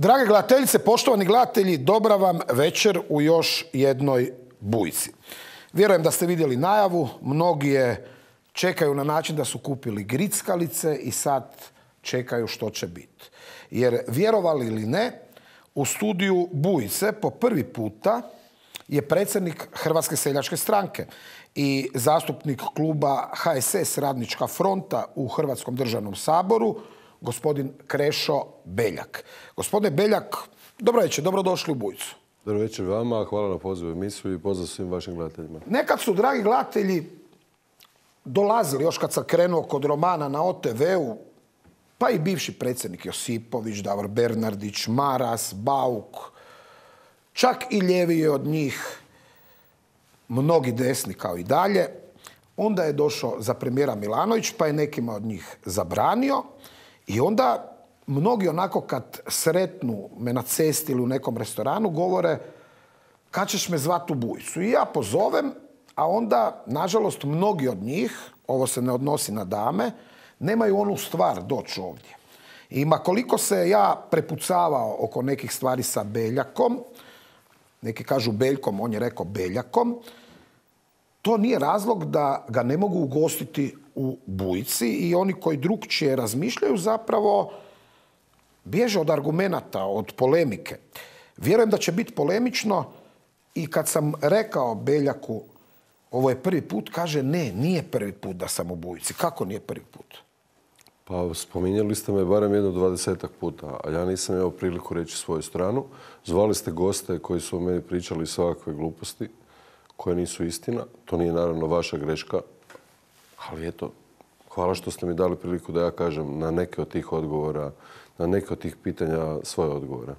Drage gledateljice, poštovani gledatelji, dobra vam večer u još jednoj Bujci. Vjerujem da ste vidjeli najavu, mnogi je čekaju na način da su kupili grickalice i sad čekaju što će biti. Jer vjerovali ili ne, u studiju Bujice po prvi puta je predsjednik Hrvatske seljačke stranke i zastupnik kluba HSS Radnička fronta u Hrvatskom državnom saboru, gospodin Krešo Beljak. Gospodine Beljak, dobro večer, dobrodošli u Bujicu. Dobro večer vama, hvala na pozivu emisiju i pozdrav svim vašim gledateljima. Nekad su, dragi gledatelji, dolazili, još kad sam krenuo kod romana na OTV-u, pa i bivši predsjednik Josipović, Davor Bernardić, Maras, Bauk, čak i ljeviji od njih, mnogi desni kao i dalje. Onda je došao za premijera Milanović, pa je nekima od njih zabranio. I onda mnogi onako kad sretnu me na cesti ili u nekom restoranu govore kad ćeš me zvati u Bujicu. I ja pozovem, a onda, nažalost, mnogi od njih, ovo se ne odnosi na dame, nemaju onu stvar doći ovdje. I koliko se ja prepucavao oko nekih stvari sa Beljakom, neki kažu Beljkom, on je rekao Beljakom, to nije razlog da ga ne mogu ugostiti u Bujici i oni koji drukčije razmišljaju zapravo bježe od argumenata, od polemike. Vjerujem da će biti polemično i kad sam rekao Beljaku ovo je prvi put, kaže ne, nije prvi put da sam u Bujici. Kako nije prvi put? Pa spominjali ste me barem jedno 20-ak puta, a ja nisam imao priliku reći svoju stranu. Zvali ste goste koji su o meni pričali svakakve gluposti koje nisu istina. To nije naravno vaša greška, ali eto, hvala što ste mi dali priliku da ja kažem na neke od tih odgovora, na neke od tih pitanja svoje odgovore.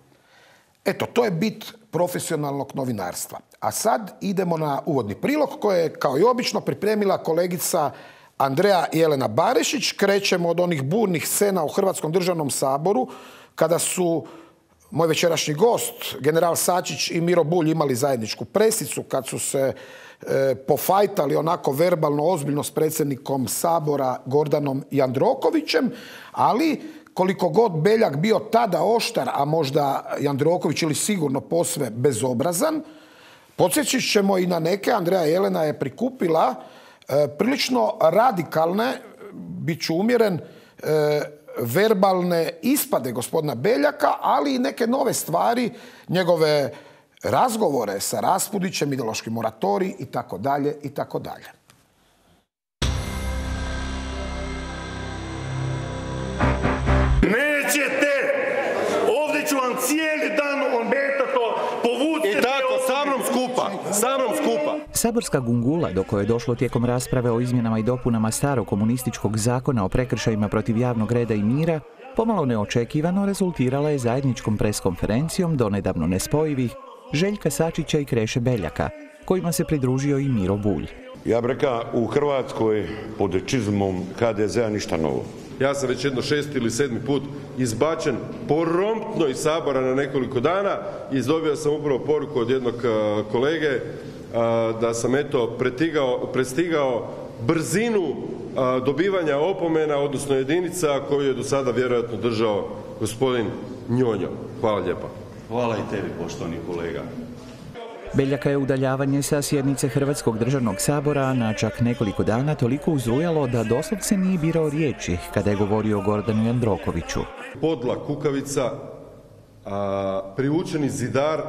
Eto, to je bit profesionalnog novinarstva. A sad idemo na uvodni prilog koje je, kao i obično, pripremila kolegica Andreja Jelena Barešić. Krećemo od onih burnih scena u Hrvatskom državnom saboru kada su moj večerašnji gost, general Sačić i Miro Bulj imali zajedničku presicu, kad su se pofajtali onako verbalno, ozbiljno s predsjednikom Sabora Gordanom Jandrokovićem, ali koliko god Beljak bio tada oštar, a možda Jandroković ili sigurno posve bezobrazan, podsjećat ćemo i na neke. Andreja Jelena je prikupila prilično radikalne, bit ću umjeren, verbalne ispade gospodina Beljaka, ali i neke nove stvari, njegove razgovore sa Raspudićem, ideološki moratorij i tako dalje i tako dalje. Nećete! Ovdje ću vam cijeli dan ometati, povucite... I tako, sa mnom skupa. Saborska gungula do koje je došlo tijekom rasprave o izmjenama i dopunama starog komunističkog zakona o prekršajima protiv javnog reda i mira, pomalo neočekivano rezultirala je zajedničkom preskonferencijom donedavno nespojivih Željka Sačića i Kreše Beljaka, kojima se pridružio i Miro Bulj. Ja bih rekao, u Hrvatskoj pod čizmom HDZ-a ništa novo. Ja sam već jedno 6. ili 7. put izbačen promptno iz Sabora na nekoliko dana i dobio sam upravo poruku od jednog kolege da sam prestigao brzinu dobivanja opomena, odnosno jedinica koju je do sada vjerojatno držao gospodin Njonjo. Hvala lijepa. Hvala i tebi, poštovani kolega. Beljaka je udaljavanje sa sjednice Hrvatskog državnog sabora na čak nekoliko dana toliko uzrujalo da doslovce nije birao riječi kada je govorio o Gordanu Jandrokoviću. Podla kukavica, priučeni zidar,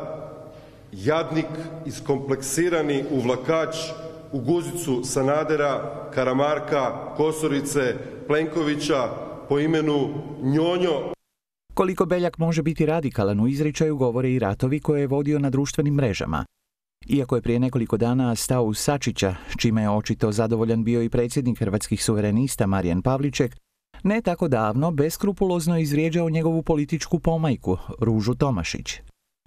jadnik, iskompleksirani uvlakač u guzicu Sanadera, Karamarka, Kosorice, Plenkovića po imenu Njonjo. Koliko Beljak može biti radikalan u izričaju govore i ratovi koje je vodio na društvenim mrežama. Iako je prije nekoliko dana stao uz Sačića, čime je očito zadovoljan bio i predsjednik Hrvatskih suverenista Marijan Pavliček, ne tako davno beskrupulozno izvrijeđao njegovu političku pomajku, Ružu Tomašić.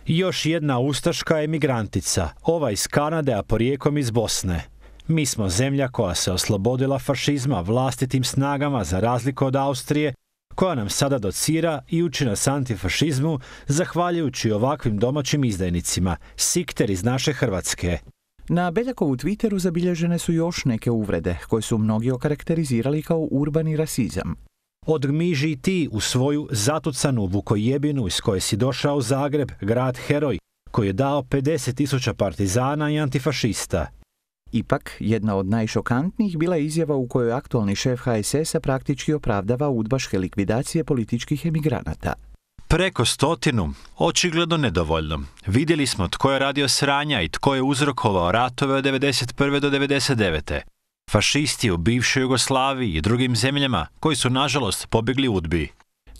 Još jedna ustaška emigrantica, ova iz Kanade, a porijekom iz Bosne. Mi smo zemlja koja se oslobodila fašizma vlastitim snagama za razliku od Austrije, koja nam sada docira i uči nas antifašizmu zahvaljujući ovakvim domaćim izdajnicima, sikter iz naše Hrvatske. Na Beljakovu Twitteru zabilježene su još neke uvrede, koje su mnogi okarakterizirali kao urbani rasizam. Odgmiži i ti u svoju zatucanu Vukojebinu iz koje si došao u Zagreb, grad heroj, koji je dao 50.000 partizana i antifašista. Ipak, jedna od najšokantnijih bila je izjava u kojoj aktualni šef HSS-a praktički opravdava udbaške likvidacije političkih emigranata. Preko 100, očigledno nedovoljno. Vidjeli smo tko je radio sranja i tko je uzrokovao ratove od 1991. do 1999. Fašisti u bivšoj Jugoslaviji i drugim zemljama koji su nažalost pobjegli udbi.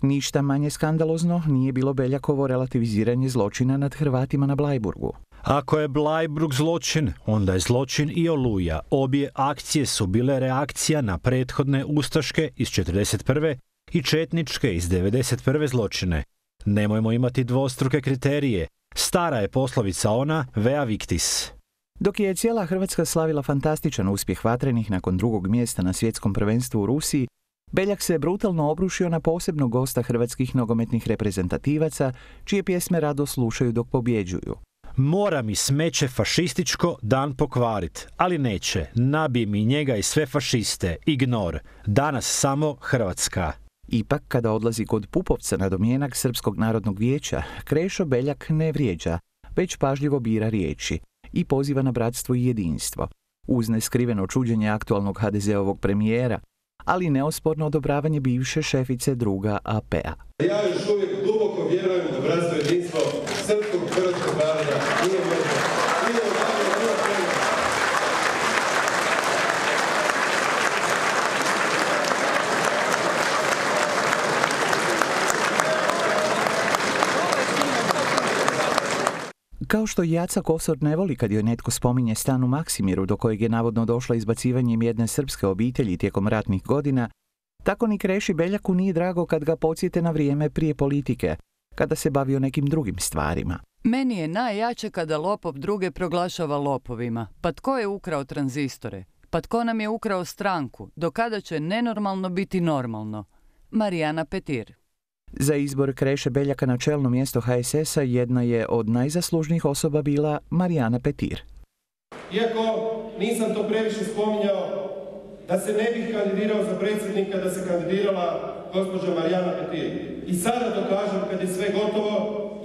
Ništa manje skandalozno nije bilo Beljakovo relativiziranje zločina nad Hrvatima na Blajburgu. Ako je Bleiburg zločin, onda je zločin i Oluja. Obje akcije su bile reakcija na prethodne ustaške iz 1941. i četničke iz 1991. zločine. Nemojmo imati dvostruke kriterije. Stara je poslovica ona, vea victis. Dok je cijela Hrvatska slavila fantastičan uspjeh vatrenih nakon drugog mjesta na svjetskom prvenstvu u Rusiji, Beljak se brutalno obrušio na posebnog gosta hrvatskih nogometnih reprezentativaca, čije pjesme rado slušaju dok pobjeđuju. Mora mi smeće fašističko dan pokvarit, ali neće. Nabije mi njega i sve fašiste. Ignor. Danas samo Hrvatska. Ipak, kada odlazi kod Pupovca na domjenak Srpskog narodnog vijeća, Krešo Beljak ne vrijeđa, već pažljivo bira riječi i poziva na bratstvo i jedinstvo, uz neskriveno čuđenje aktualnog HDZ-ovog premijera, ali neosporno odobravanje bivše šefice druga AP-a. Ja još uvijek duboko vjerujem da bratstvo i jedinstvo srpskog i hrvatskog naroda nije možda. Kao što Jaca Kosor ne voli kad joj netko spominje stan u Maksimiru do kojeg je navodno došla izbacivanjem jedne srpske obitelji tijekom ratnih godina, tako ni Kreši Beljaku nije drago kad ga podsjete na vrijeme prije politike, kada se bavio nekim drugim stvarima. Meni je najjače kada lopov druge proglašava lopovima. Pa tko je ukrao tranzistore? Pa tko nam je ukrao stranku? Do kada će nenormalno biti normalno? Marijana Petir. Za izbor Kreše Beljaka na čelno mjesto HSS-a jedna je od najzaslužnijih osoba bila Marijana Petir. Iako nisam to previše spominjao, da se ne bih kandidirao za predsjednika, da se kandidirala gospođa Marijana Petir. I sada to kažem kad je sve gotovo,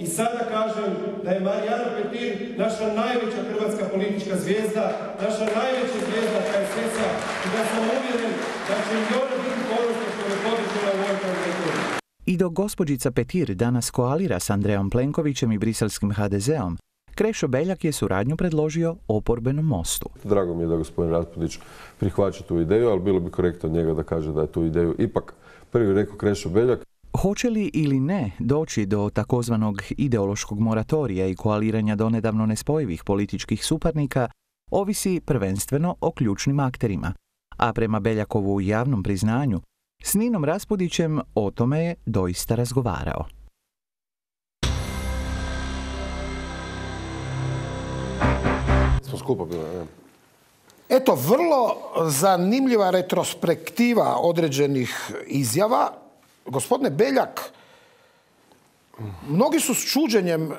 i sada kažem da je Marijana Petir naša najveća hrvatska politička zvijezda, naša najveća zvijezda HSS-a i da sam uvjeren da će i ona biti ponosna što je podržala u ovoj kandidaturi. I dok gospođica Petir danas koalira s Andrejom Plenkovićem i briselskim HDZ-om, Krešo Beljak je suradnju predložio oporbenom Mostu. Drago mi je da gospodin Raspudić prihvaća tu ideju, ali bilo bi korektno od njega da kaže da je tu ideju ipak prvi rekao Krešo Beljak. Hoće li ili ne doći do takozvanog ideološkog moratorija i koaliranja donedavno nespojivih političkih suparnika, ovisi prvenstveno o ključnim akterima, a prema Beljakovu javnom priznanju, s Ninom Raspudićem o tome je doista razgovarao. Smo skupa bili, ne? Eto, vrlo zanimljiva retrospektiva određenih izjava. Gospodine Beljak, mnogi su s čuđenjem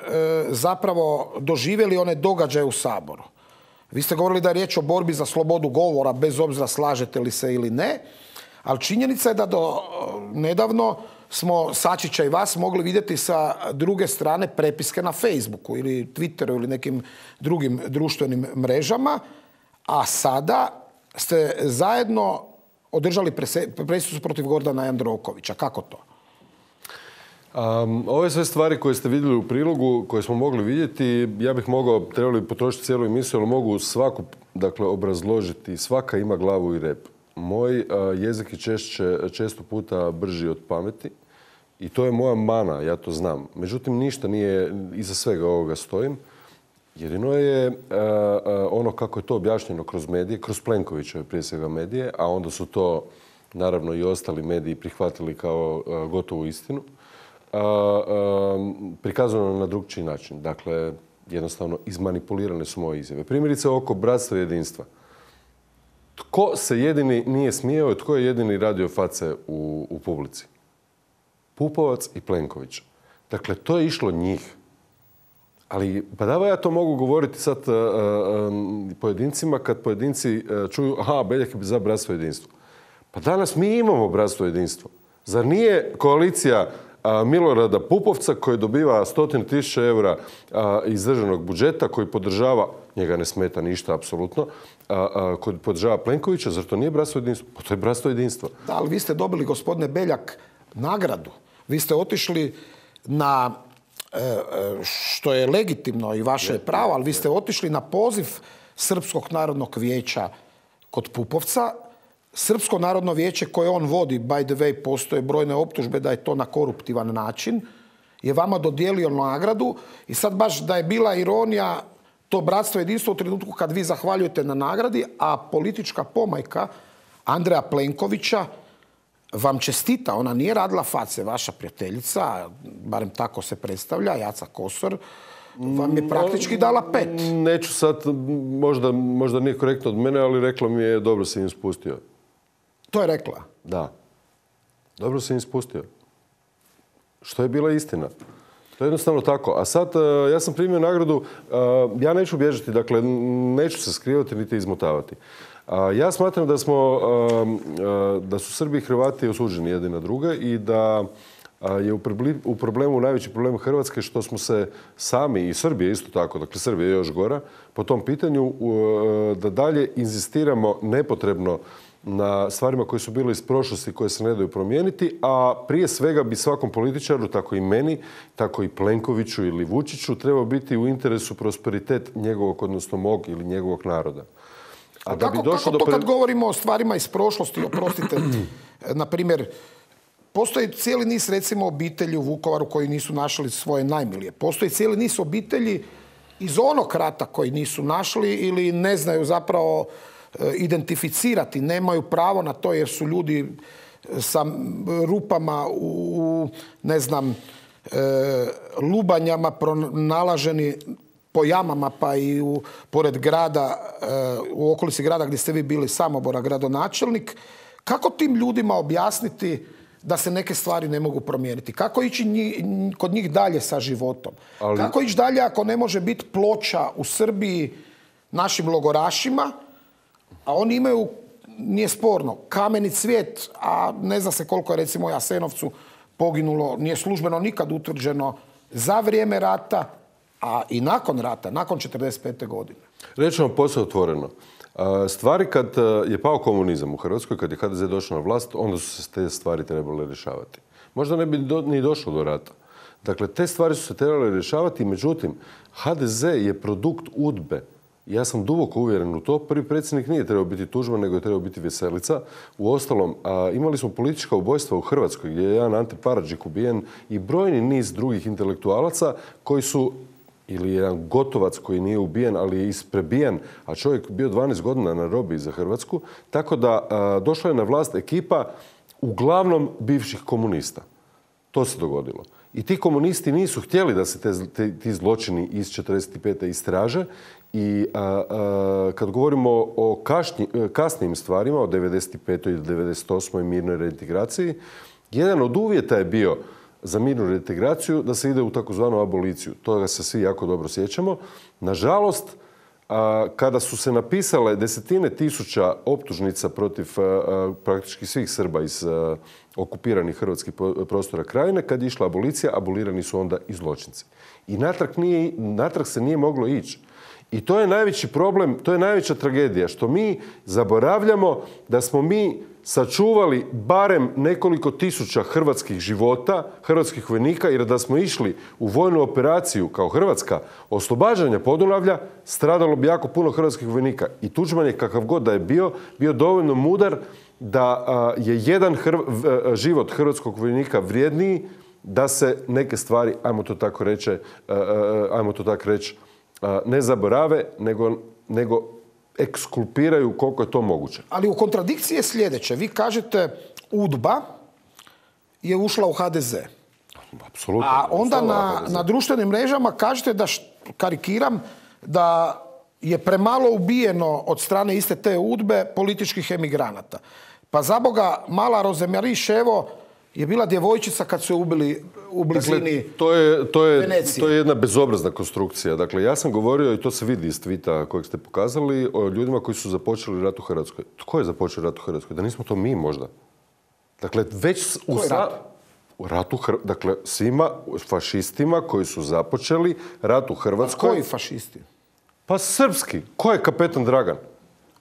zapravo doživjeli one događaje u Saboru. Vi ste govorili da je riječ o borbi za slobodu govora, bez obzira slažete li se ili ne, ali činjenica je da do nedavno smo Sačića i vas mogli vidjeti sa druge strane prepiske na Facebooku ili Twitteru ili nekim drugim društvenim mrežama, a sada ste zajedno održali presicu protiv Gordana Jandrokovića. Kako to? Ove sve stvari koje ste vidjeli u prilogu, koje smo mogli vidjeti, ja bih trebali potrošiti cijelu emisiju, ali mogu svaku obrazložiti. Svaka ima glavu i rep. Moj jezik je često puta brži od pameti i to je moja mana, ja to znam. Međutim, ništa nije, iza svega ovoga stojim. Jedino je ono kako je to objašnjeno kroz medije, kroz Plenkovićeve prije svega medije, a onda su to naravno i ostali mediji prihvatili kao gotovu istinu, prikazano na drugčiji način. Dakle, jednostavno izmanipulirane su moje izjave. Primjerice oko bratstva i jedinstva. Tko se jedini nije smijao i tko je jedini radio face u publici? Pupovac i Plenković. Dakle, to je išlo njih. Ali, pa da ja to mogu govoriti sad pojedincima kad pojedinci čuju, aha, Beljak je za bratstvo i jedinstvo. Pa danas mi imamo bratstvo i jedinstvo. Zar nije koalicija Milorada Pupovca koji dobiva 100.000 eura iz državnog budžeta, koji podržava, njega ne smeta ništa apsolutno, koji podržava Plenkovića, zar to nije bratstvo jedinstva? Pa to je bratstvo jedinstva. Da, ali vi ste dobili, gospodine Beljak, nagradu. Vi ste otišli na, što je legitimno i vaše pravo, ali vi ste otišli na poziv Srpskog narodnog vijeća kod Pupovca. Srpsko narodno vijeće koje on vodi, by the way, postoje brojne optužbe da je to na koruptivan način, je vama dodijelio nagradu i sad baš da je bila ironija to bratstvo jedinstvo u trenutku kad vi zahvaljujete na nagradi, a politička pomajka Andreja Plenkovića vam čestita. Ona nije radila face, vaša prijateljica, barem tako se predstavlja, Jaca Kosor, vam je praktički dala 5. Neću sad, možda nije korektno od mene, ali rekla mi je dobro si im spustio. To je rekla? Da. Dobro si im spustio. Što je bila istina. To je jednostavno tako. A sad, ja sam primio nagradu, ja neću bježati, dakle, neću se skrivati niti izmotavati. Ja smatram da su Srbi i Hrvati osuđeni jedni na druge i da je u problemu, najveći problem Hrvatske što smo se sami, i Srbije isto tako, dakle Srbija je još gora, po tom pitanju da dalje inzistiramo nepotrebno na stvarima koje su bile iz prošlosti, koje se ne daju promijeniti, a prije svega bi svakom političaru, tako i meni, tako i Plenkoviću ili Vučiću, trebao biti u interesu prosperitet njegovog, odnosno mog ili njegovog naroda. A kako to kad govorimo o stvarima iz prošlosti, oprostite, na primjer, postoji cijeli niz, recimo, obitelji u Vukovaru koji nisu našli svoje najmilije. Postoji cijeli niz obitelji iz onog rata koji nisu našli ili ne znaju zapravo identificirati, nemaju pravo na to jer su ljudi sa rupama u, ne znam, lubanjama pronalaženi po jamama pa i pored grada, u okolici grada gdje ste vi bili Samobora gradonačelnik. Kako tim ljudima objasniti da se neke stvari ne mogu promijeniti? Kako ići kod njih dalje sa životom? Kako ići dalje ako ne može biti ploča u Srbiji našim logorašima, a oni imaju, nije sporno, kameni cvijet, a ne zna se koliko je recimo u Jasenovcu poginulo, nije službeno nikad utvrđeno za vrijeme rata, a i nakon rata, nakon 1945. godine. Reći vam posve otvoreno. Stvari kad je pao komunizam u Hrvatskoj, kad je HDZ došao na vlast, onda su se te stvari trebale rješavati. Možda ne bi ni došlo do rata. Dakle, te stvari su se trebale rješavati, međutim, HDZ je produkt UDBE. Ja sam duboko uvjeren u to. Prvi predsjednik nije trebao biti Tuđman, nego je trebao biti Veselica. Uostalom, imali smo politička ubojstva u Hrvatskoj, gdje je jedan Ante Paradžik ubijen i brojni niz drugih intelektualaca koji su, ili jedan Gotovac koji nije ubijen, ali je isprebijen, a čovjek bio 12 godina na robiji za Hrvatsku. Tako da došla je na vlast ekipa uglavnom bivših komunista. To se dogodilo. I ti komunisti nisu htjeli da se ti zločini iz 1945. istraže i kad govorimo o kasnijim stvarima, o 1995. i 1998. mirnoj reintegraciji, jedan od uvjeta je bio za mirnu reintegraciju da se ide u takozvanu aboliciju. Toga se svi jako dobro sjećamo. Nažalost, kada su se napisale desetine tisuća optužnica protiv praktički svih Srba iz okupiranih hrvatskih prostora Krajine, kad je išla abolicija, abolirani su onda i zločinci. I natrag se nije moglo ići. I to je najveći problem, to je najveća tragedija, što mi zaboravljamo da smo mi sačuvali barem nekoliko tisuća hrvatskih života, hrvatskih vojnika, jer da smo išli u vojnu operaciju kao Hrvatska oslobađanja Podunavlja, stradalo bi jako puno hrvatskih vojnika. I Tuđman je, kakav god da je bio dovoljno mudar da je jedan život hrvatskog vojnika vrijedniji da se neke stvari, ajmo to tako reći, ne zaborave, nego ekskulpiraju koliko je to moguće. Ali u kontradikciji je sljedeće. Vi kažete UDBA je ušla u HDZ. Apsolutno. A onda na društvenim mrežama kažete da, karikiram, da je premalo ubijeno od strane iste te UDBE političkih emigranata. Pa za Boga, mala Rozemarie Ševo je bila djevojčica kad su je ubili u blizini Venecije. To je jedna bezobrazna konstrukcija. Dakle, ja sam govorio, i to se vidi iz tvita kojeg ste pokazali, o ljudima koji su započeli rat u Hrvatskoj. Tko je započeo rat u Hrvatskoj? Da nismo to mi možda? Dakle, već u ratu, dakle, svima fašistima koji su započeli rat u Hrvatskoj. Koji fašisti? Pa srpski. Ko je kapetan Dragan?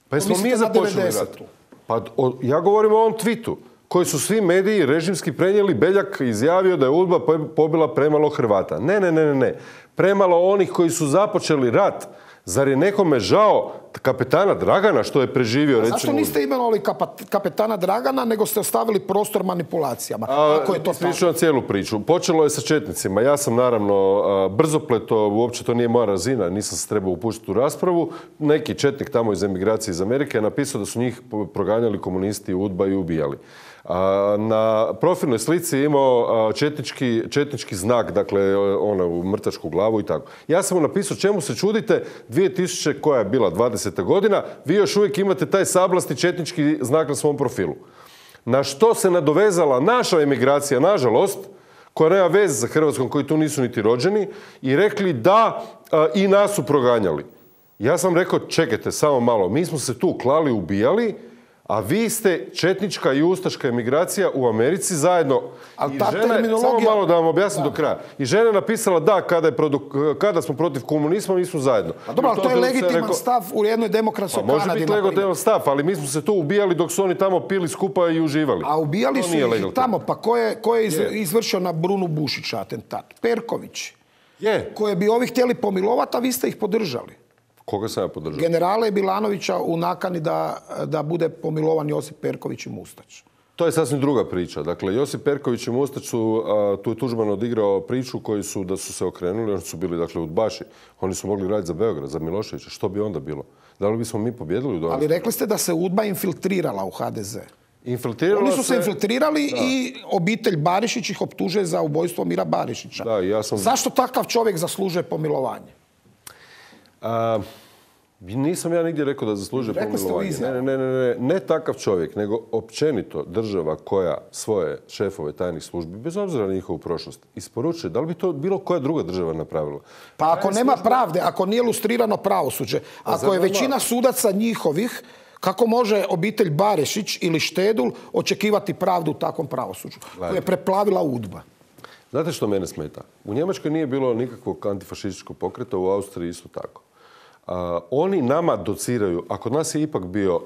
Pa jesmo mi započeli rat? Pa ja govorim o ovom tweetu koji su svi mediji režimski prenijeli. Beljak izjavio da je UDBA pobila premalo Hrvata. Ne. Premalo onih koji su započeli rat. Zar je nekome žao kapetana Dragana što je preživio, recimo... Zašto niste imenovali kapetana Dragana, nego ste ostavili prostor manipulacijama? Ako je to tako? Ispričavam cijelu priču. Počelo je sa četnicima. Ja sam naravno brzopleto, uopće to nije moja razina, nisam se trebao upuštiti u raspravu. Neki četnik tamo iz emigracije iz Amerike je napisao da su njih proganjali komunisti, UDBA i ubijali. Na profilnoj slici je imao četnički znak, dakle, u mrtvačku glavu i tako. Ja sam mu napisao čemu se čudite, 2000, koja je bila 20. godina, vi još uvijek imate taj sablasti četnički znak na svom profilu. Na što se nadovezala naša emigracija, nažalost, koja nema veze sa Hrvatskom, koji tu nisu niti rođeni, i rekli da i nas su proganjali. Ja sam rekao, čekajte, samo malo, mi smo se tu klali, ubijali, a vi ste četnička i ustaška emigracija u Americi zajedno. Ali I ta žena, terminologija... samo malo da vam objasnim do kraja. I žena je napisala da, kada smo protiv komunizma, mi smo zajedno. A dobro, ali to je legitiman stav u jednoj demokratskoj Kanadi. Može biti legitiman stav, ali mi smo se tu ubijali dok su oni tamo pili skupa i uživali. A ubijali su ih tamo, pa ko je izvršio na Brunu Bušića atentat? Perković. Koje bi ovi htjeli pomilovati, a vi ste ih podržali. Koga sam ja podržao? Generale Bilanovića u nakani da bude pomilovan Josip Perković i Mustać. To je sasvim druga priča. Dakle, Josip Perković i Mustać su, tu je Tuđman odigrao priču da su se okrenuli, oni su bili, dakle, udbaši. Oni su mogli raditi za Beograd, za Miloševića. Što bi onda bilo? Da li bismo mi pobjedili u Domovinskom ratu? Ali rekli ste da se UDBA infiltrirala u HDZ. Oni su se infiltrirali i obitelj Barišić ih optužuje za ubojstvo Mira Barišića. Zašto takav čovjek zaslužuje pomilovanje? Nisam ja nigdje rekao da zaslužuje pomilovanje. Ne takav čovjek, nego općenito država koja svoje šefove tajnih službi, bez obzira na njihovu prošlost, isporučuje. Da li bi to bilo koja druga država napravila? Pa ako nema pravde, ako nije lustrirano pravosuđe, ako je većina sudaca njihovih, kako može obitelj Barišić ili Štedul očekivati pravdu u takvom pravosuđu koje je preplavila UDBA? Znate što mene smeta? U Njemačkoj nije bilo nikakvog antifašističkog pokreta, u Austriji isto tako. Oni nama dociraju, a kod nas je ipak bio,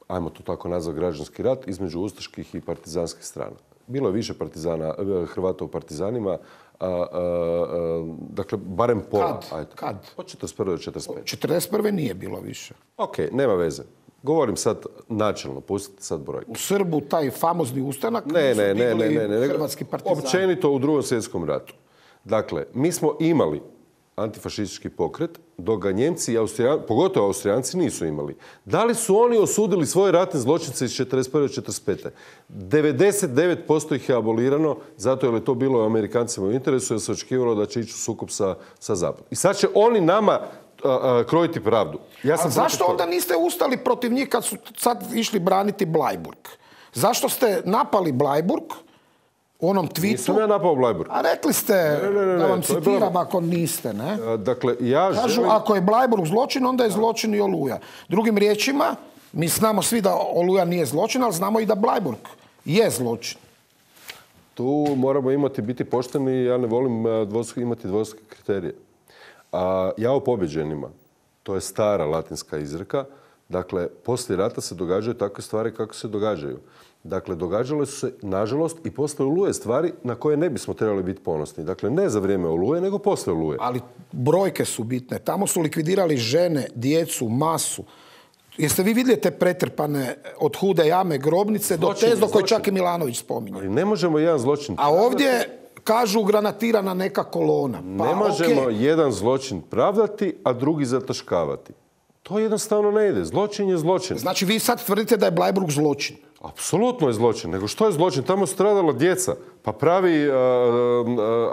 ajmo to tako nazvati, građanski rat između ustaških i partizanskih strana. Bilo je više Hrvata u partizanima, dakle, barem pola. Kad? Od 41. do 45. 41. nije bilo više. Ok, nema veze. Govorim sad načelno, pustite sad broj. U Srbu taj famozni ustanak su bili hrvatski partizani. Općenito u Drugom svjetskom ratu. Dakle, mi smo imali antifašistički pokret, dok ga Njemci i pogotovo Austrijanci nisu imali. Da li su oni osudili svoje ratne zločince iz 41. do 45. 99% ih je abolirano, zato jer je to bilo Amerikancima u interesu, jer se očekivalo da će ići u sukob sa Zapadom. I sad će oni nama krojiti pravdu. A zašto onda niste ustali protiv njih kad su sad išli braniti Bleiburg? Zašto ste napali Bleiburg u onom tweetu? Nisam ja napao Bleiburg. A rekli ste, da vam citiram ako niste, ne? Dakle, kažu, ako je Bleiburg zločin, onda je zločin i Oluja. Drugim riječima, mi znamo svi da Oluja nije zločin, ali znamo i da Bleiburg je zločin. Tu moramo biti pošteni, ja ne volim imati dvostruke kriterije. Ja o pobjeđenima, to je stara latinska izreka, dakle, poslije rata se događaju takve stvari kako se događaju. Dakle, događale su se, nažalost, i posle Oluje stvari na koje ne bismo trebali biti ponosni. Dakle, ne za vrijeme Oluje, nego posle Oluje. Ali brojke su bitne. Tamo su likvidirali žene, djecu, masu. Jeste vi vidjeli te pretrpane od Hude jame grobnice do Tezdo koje čak i Milanović spominje? Ali ne možemo jedan zločin... A ovdje kažu granatirana neka kolona. Ne možemo jedan zločin pravdati, a drugi zataškavati. To jednostavno ne ide. Zločin je zločin. Znači vi sad tvrdite da je Bleiburg zločin? Apsolutno je zločin. Nego što je zločin? Tamo su stradala djeca. Pa pravi,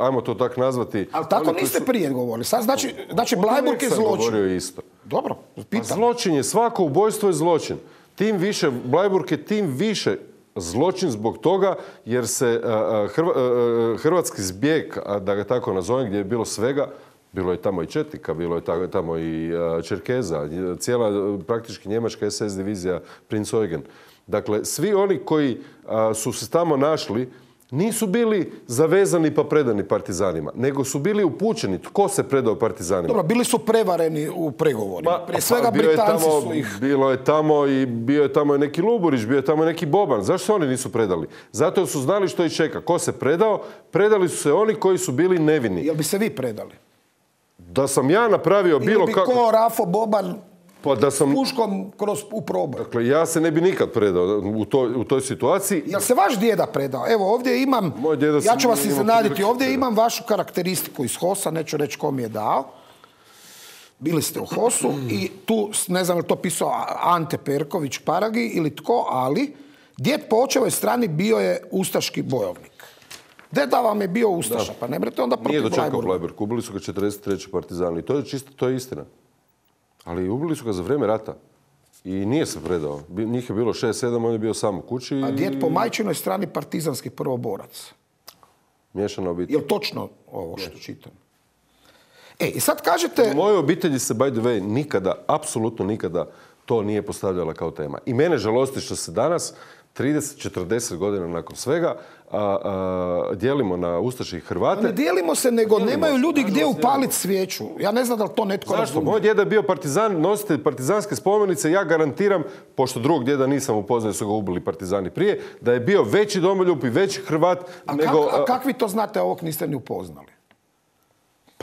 ajmo to tako nazvati... Ali tako niste prije govorili. Sad znači Bleiburg je zločin. Govorio isto. Dobro, pitam. Zločin je, svako ubojstvo je zločin. Tim više, Bleiburg je tim više zločin zbog toga jer se hrvatski zbjeg, da ga tako nazovem, gdje je bilo svega, Bilo je tamo i četnika, bilo je tamo i Čerkeza, cijela praktički njemačka SS divizija Prinz Eugen. Dakle, svi oni koji su se tamo našli nisu bili zavezani pa predani partizanima, nego su bili upućeni tko se predao partizanima. Dobro, bili su prevareni u pregovorima. Prije svega Britanci su ih... Bio je tamo i neki Luburić, bio je tamo i neki Boban. Zašto se oni nisu predali? Zato su znali što ih čeka. Ko se predao? Predali su se oni koji su bili nevini. Jel bi se vi predali? Da sam ja napravio bilo kako... Ili bi ko Rafo Boban pa da sam puškom u proboj. Dakle, ja se ne bi nikad predao u toj situaciji. Jel se vaš djeda predao? Evo, ovdje imam, ja ću vas iznenaditi, ovdje imam vašu karakteristiku iz HOS-a, neću reći ko mi je dao. Bili ste u HOS-u i tu, ne znam je li to pisao Ante Perković Paragi ili tko, ali djed po očevoj strani bio je ustaški bojovnik. Deda vam je bio ustaša, pa ne brete onda protiv Nije dočekao Bleiburga. Bleiburg, ubili su ga 43. partizani. To je istina. Ali ubili su ga za vrijeme rata. I nije se predao. Njih je bilo 6-7, on je bio sam u kući. A djed po majčinoj strani partizanski prvoborac. Miješana obitelj. Je li točno ovo što čitam? I sad kažete... U mojoj obitelji se, by the way, nikada, apsolutno nikada to nije postavljala kao tema. I mene žalosti što se danas, 30-40 godina nakon svega, dijelimo na Ustaše i Hrvate. Ne dijelimo se, nego nemaju ljudi gdje upaliti svijeću. Ja ne znam da li to netko razumije. Zašto? Moj djeda je bio partizan, nositelj partizanske spomenice. Ja garantiram, pošto drugog djeda nisam upoznao, su ga ubili partizani prije, da je bio veći domoljub i veći Hrvat nego... A kak vi to znate, ovog niste ni upoznali?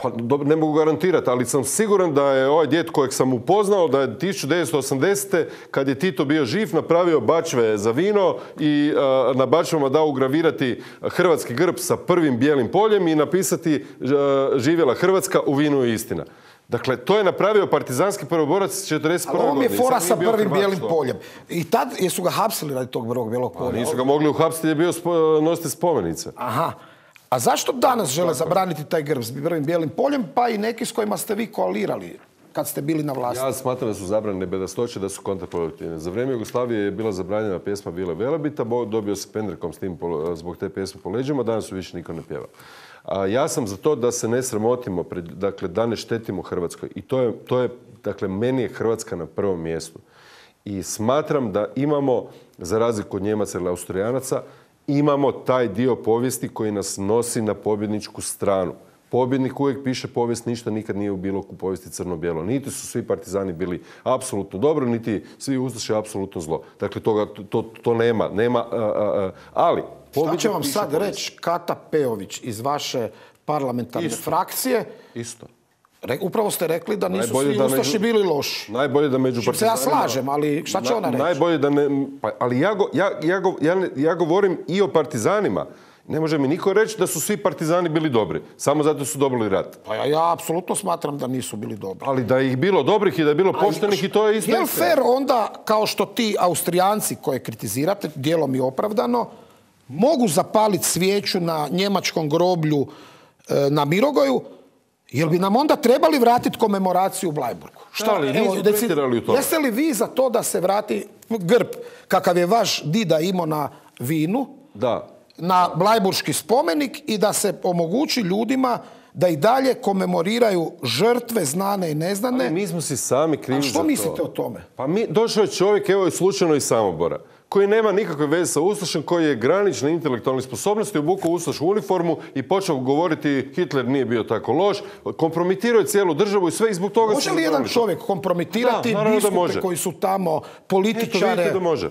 Pa ne mogu garantirati, ali sam siguran da je ovaj djed kojeg sam upoznao, da je 1980. kad je Tito bio živ, napravio bačve za vino i na bačvama dao ugravirati hrvatski grb sa prvim bijelim poljem i napisati živjela Hrvatska, u vinu je istina. Dakle, to je napravio partizanski prvoborac 41. godine. Ali on je fora sa prvim bijelim poljem. I tad jesu ga hapsili radi tog prvog bijelog polja. Nisu ga mogli uhapsiti jer je bio nositelj spomenice. Aha. A zašto danas žele zabraniti taj grb s prvim bijelim poljem, pa i neki s kojima ste vi koalirali kad ste bili na vlasti? Ja smatram da su zabranjene bedastoće, da su kontraproduktivne. Za vrijeme Jugoslavije je bila zabranjena pjesma Vile Velebita, dobio se pendrekom s tim zbog te pjesme po leđima, danas su više niko ne pjeva. Ja sam za to da se ne sramotimo, dakle da ne štetimo Hrvatskoj. I to je, dakle, meni je Hrvatska na prvom mjestu. I smatram da imamo, za razliku od Njemaca ili Austrijanaca, imamo taj dio povijesti koji nas nosi na pobjedničku stranu. Pobjednik uvijek piše povijest, ništa nikad nije bilo u povijesti crno-bijelo. Niti su svi partizani bili apsolutno dobro, niti svi ustaše apsolutno zlo. Dakle, to nema. Ali... Šta će vam sad reći Kata Peović iz vaše parlamentarne frakcije? Isto. Upravo ste rekli da nisu svi ustaši bili loši. Najbolje da među partizanima... Se ja slažem, ali šta će ona reći? Najbolje da ne... Ali ja govorim i o partizanima. Ne može mi niko reći da su svi partizani bili dobri. Samo zato su dobili rat. Pa ja apsolutno smatram da nisu bili dobri. Ali da ih bilo dobrih i da je bilo poštenih i to je isto. Je li fair onda, kao što ti Austrijanci koje kritizirate, dijelom i opravdano, mogu zapaliti svijeću na njemačkom groblju na Mirogoju, jel bi nam onda trebali vratiti komemoraciju u Bleiburgu? Jeste li vi za to da se vrati grb kakav je vaš dida imao na vinu? Da. Na Bleiburški spomenik i da se omogući ljudima da i dalje komemoriraju žrtve znane i neznane. Ali mi smo si sami krivi za to. A što mislite o tome? Pa došao je čovjek, evo je slučajno iz Samobora, koji nema nikakve veze sa ustašem, koji je granične intelektualne sposobnosti, obukao ustašku uniformu i počeo govoriti Hitler nije bio tako loš, kompromitirao je cijelu državu i sve i zbog toga... Može li jedan čovjek kompromitirati biskupe koji su tamo, političare? Vidite da može.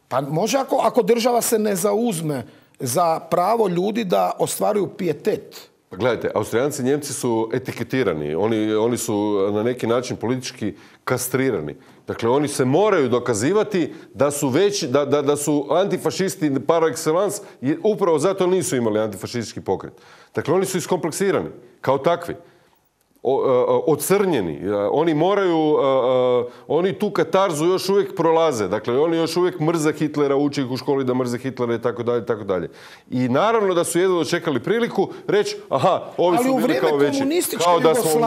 Pa može ako država se ne zauzme za pravo ljudi da ostvaruju pijetet. Pa gledajte, Austrijanci i Njemci su etiketirani. Oni su na neki način politički kastrirani. Dakle, oni se moraju dokazivati da su da su antifašisti par excellence, upravo zato nisu imali antifašistički pokret. Dakle, oni su iskompleksirani kao takvi. Ocrnjeni. Oni tu katarzu još uvijek prolaze. Dakle, oni još uvijek mrze Hitlera, uče ih u školi da mrze Hitlera i tako dalje, tako dalje. I naravno da su jedno dočekali priliku reći, aha, ovi su bili kao veći. Kao da smo,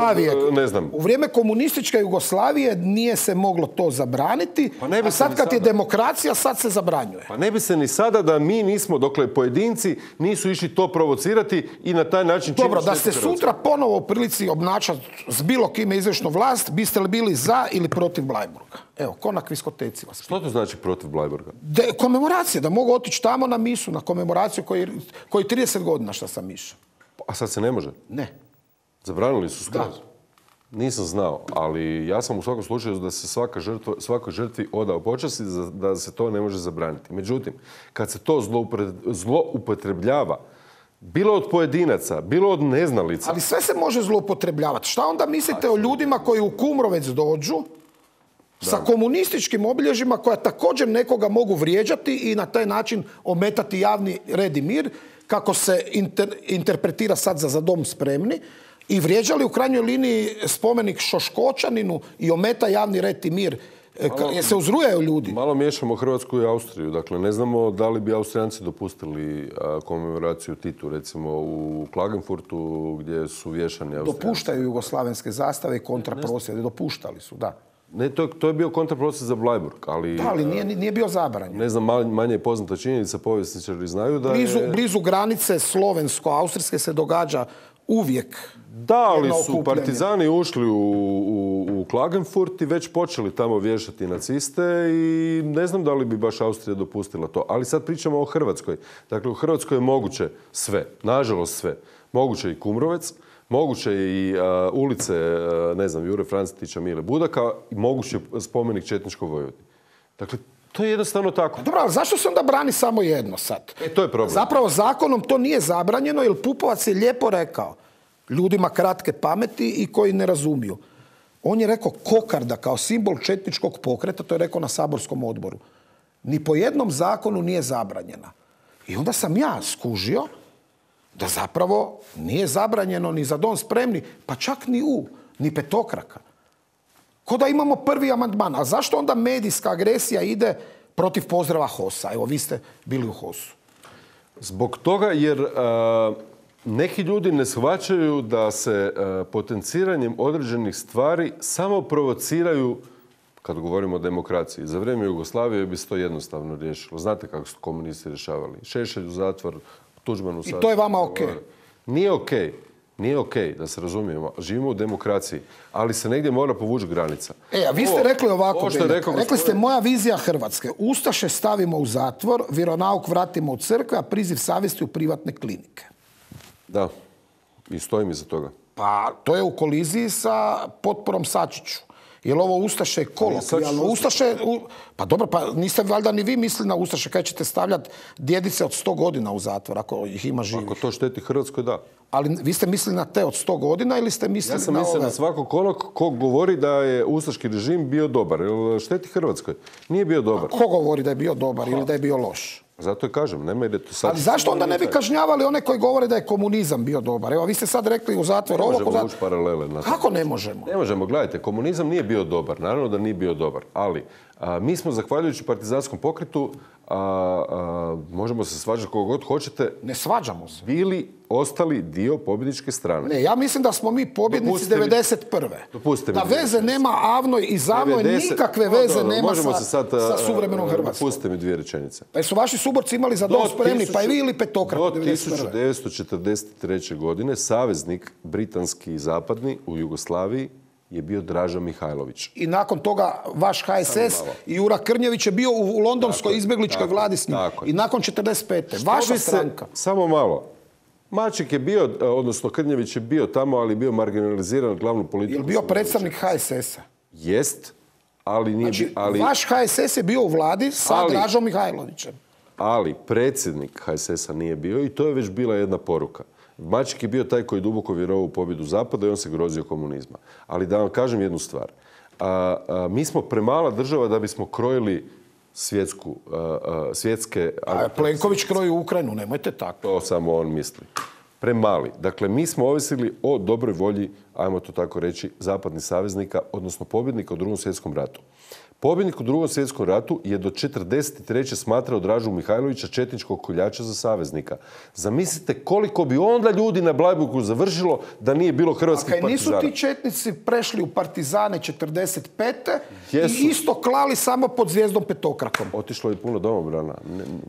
ne znam. U vrijeme komunističke Jugoslavije nije se moglo to zabraniti, a sad kad je demokracija, sad se zabranjuje. Pa ne bi se ni sada da mi nismo, dokle pojedinci nisu išli to provocirati i na taj način... Dobro, da ste sutra ponovo u prilici obnašati mačat s bilo kime izvršnu vlast, biste li bili za ili protiv Bleiburga? Evo, ko na kviskoteci vas. Što to znači protiv Bleiburga? Komemoracija, da mogu otići tamo na misu, na komemoraciju koji 30 godina šta sam išao. A sad se ne može? Ne. Zabranili su skroz? Da. Nisam znao, ali ja sam u svakom slučaju da se svakoj žrtvi odao počast i da se to ne može zabraniti. Međutim, kad se to zloupotrebljava, bilo od pojedinaca, bilo od neznalica. Ali sve se može zloupotrebljavati. Šta onda mislite o ljudima koji u Kumrovec dođu sa komunističkim obilježjima koja također nekoga mogu vrijeđati i na taj način ometati javni red i mir, kako se interpretira sad za dom spremni, i vrijeđali u krajnjoj liniji spomenik Šoškočaninu i ometa javni red i mir. Jer se uzrujaju ljudi. Malo miješamo Hrvatsku i Austriju. Dakle, ne znamo da li bi Austrijanci dopustili komemoraciju Titu, recimo u Klagenfurtu, gdje su vješani Austrijanci. Dopuštaju jugoslavenske zastave i kontraprosjede. Dopuštali su, da. Ne, to je bio kontraprosjed za Bleiburg, ali... Da, ali nije bio zabranjen. Ne znam, manje je poznata činjenica, povjesničari znaju da Blizu granice slovensko-austrijske se događa uvijek. Da, ali su partizani ušli u Klagenfurt i već počeli tamo vješati naciste i ne znam da li bi baš Austrija dopustila to. Ali sad pričamo o Hrvatskoj. Dakle, u Hrvatskoj je moguće sve, nažalost sve. Moguće i Kumrovec, moguće i ulice, ne znam, Jure Francetića, Mile Budaka i moguće spomenik četničkoj Vojvodini. Dakle, to je jednostavno tako. Dobro, ali zašto se onda brani samo jedno sad? To je problem. Zapravo zakonom to nije zabranjeno, jer Pupovac je lijepo rekao ljudima kratke pameti i koji ne razumiju. On je rekao kokarda kao simbol četničkog pokreta, to je rekao na saborskom odboru. Ni po jednom zakonu nije zabranjena. I onda sam ja skužio da zapravo nije zabranjeno ni za dom spremni, pa čak ni petokraka. Ko da imamo prvi amandman. A zašto onda medijska agresija ide protiv pozdrava HOS-a? Evo, vi ste bili u HOS-u. Zbog toga jer neki ljudi ne shvaćaju da se potenciranjem određenih stvari samo provociraju, kad govorimo o demokraciji. Za vrijeme Jugoslavije bi se to jednostavno riješilo. Znate kako su komunisti rješavali. Šešelj u zatvor, Tuđman u zatvor. I to je vama okej? Nije okej. Nije okej, da se razumijemo. Živimo u demokraciji, ali se negdje mora povući granica. A vi ste rekli ovako, rekli ste moja vizija Hrvatske. Ustaše stavimo u zatvor, vjeronauk vratimo u crkve, a priziv savjesti u privatne klinike. Da, i stojim iza toga. Pa to je u koliziji sa potporom Sačiću. Jer ovo Ustaše je kolokvijalno. Ustaše, pa dobro, pa niste valjda ni vi mislili na Ustaše, kada ćete stavljati djedice od 100 godina u zatvor, ako ih ima živih. Ako to šteti Hrvatskoj, da. Ali vi ste mislili na te od 100 godina ili ste mislili na ove? Ja sam mislio na svakog onog ko govori da je ustaški režim bio dobar. Jer šteti Hrvatskoj. Nije bio dobar. A ko govori da je bio dobar ili da je bio loš? Zato je kažem, nema ide to sad... Ali zašto onda ne bi kažnjavali one koji govore da je komunizam bio dobar? Evo, vi ste sad rekli u zatvor ovo... Ne možemo vući paralele na to. Kako ne možemo? Ne možemo, gledajte, komunizam nije bio dobar. Naravno da nije bio dobar. Ali mi smo, zahvaljujući partizanskom pokretu, možemo se svađati kogo god hoćete... Ne svađamo se. Bili ostali dio pobjedničke strane. Ne, ja mislim da smo mi pobjednici 91. Dopustite mi. Da veze nema Avnoj i Zavnoj, nikakve veze nema sa suvremenom Hrvatskom. Dopustite mi dvije rečenice. Pa su vaši suborci imali za dom spremni, pa i vi ili petokrat? Do 1943. godine saveznik britanski i zapadni u Jugoslaviji je bio Draža Mihajlović. I nakon toga vaš HSS i Jura Krnjević je bio u londonskoj izbjegličkoj vladi s njim. I nakon 45. Vaša stranka. Samo malo. Maček je bio, odnosno Krnjević je bio tamo, ali je bio marginaliziran glavnu politiku. Je li bio predstavnik HSS-a? Jest, ali nije... Znači, vaš HSS je bio u vladi sa Dražom Mihajlovićem. Ali predsjednik HSS-a nije bio i to je već bila jedna poruka. Maček je bio taj koji duboko vjerovao u pobjedu Zapada i on se grozio komunizma. Ali da vam kažem jednu stvar. Mi smo premala država da bismo krojili svjetske... A Plenković kroji Ukrajinu, nemojte tako. To samo on misli. Premali. Dakle, mi smo ovisili o dobroj volji, ajmo to tako reći, zapadnih saveznika, odnosno pobjednika u Drugom svjetskom ratu. Pobjednik u Drugom svjetskom ratu je do 1943. smatrao Dražu Mihajlovića četničkog koljača za saveznika. Zamislite koliko bi onda ljudi na Bleiburgu završilo da nije bilo hrvatskih partizana. Nisu ti četnici prešli u partizane 1945. Jesu. I isto klali samo pod zvijezdom petokrakom. Otišlo je puno domobrana.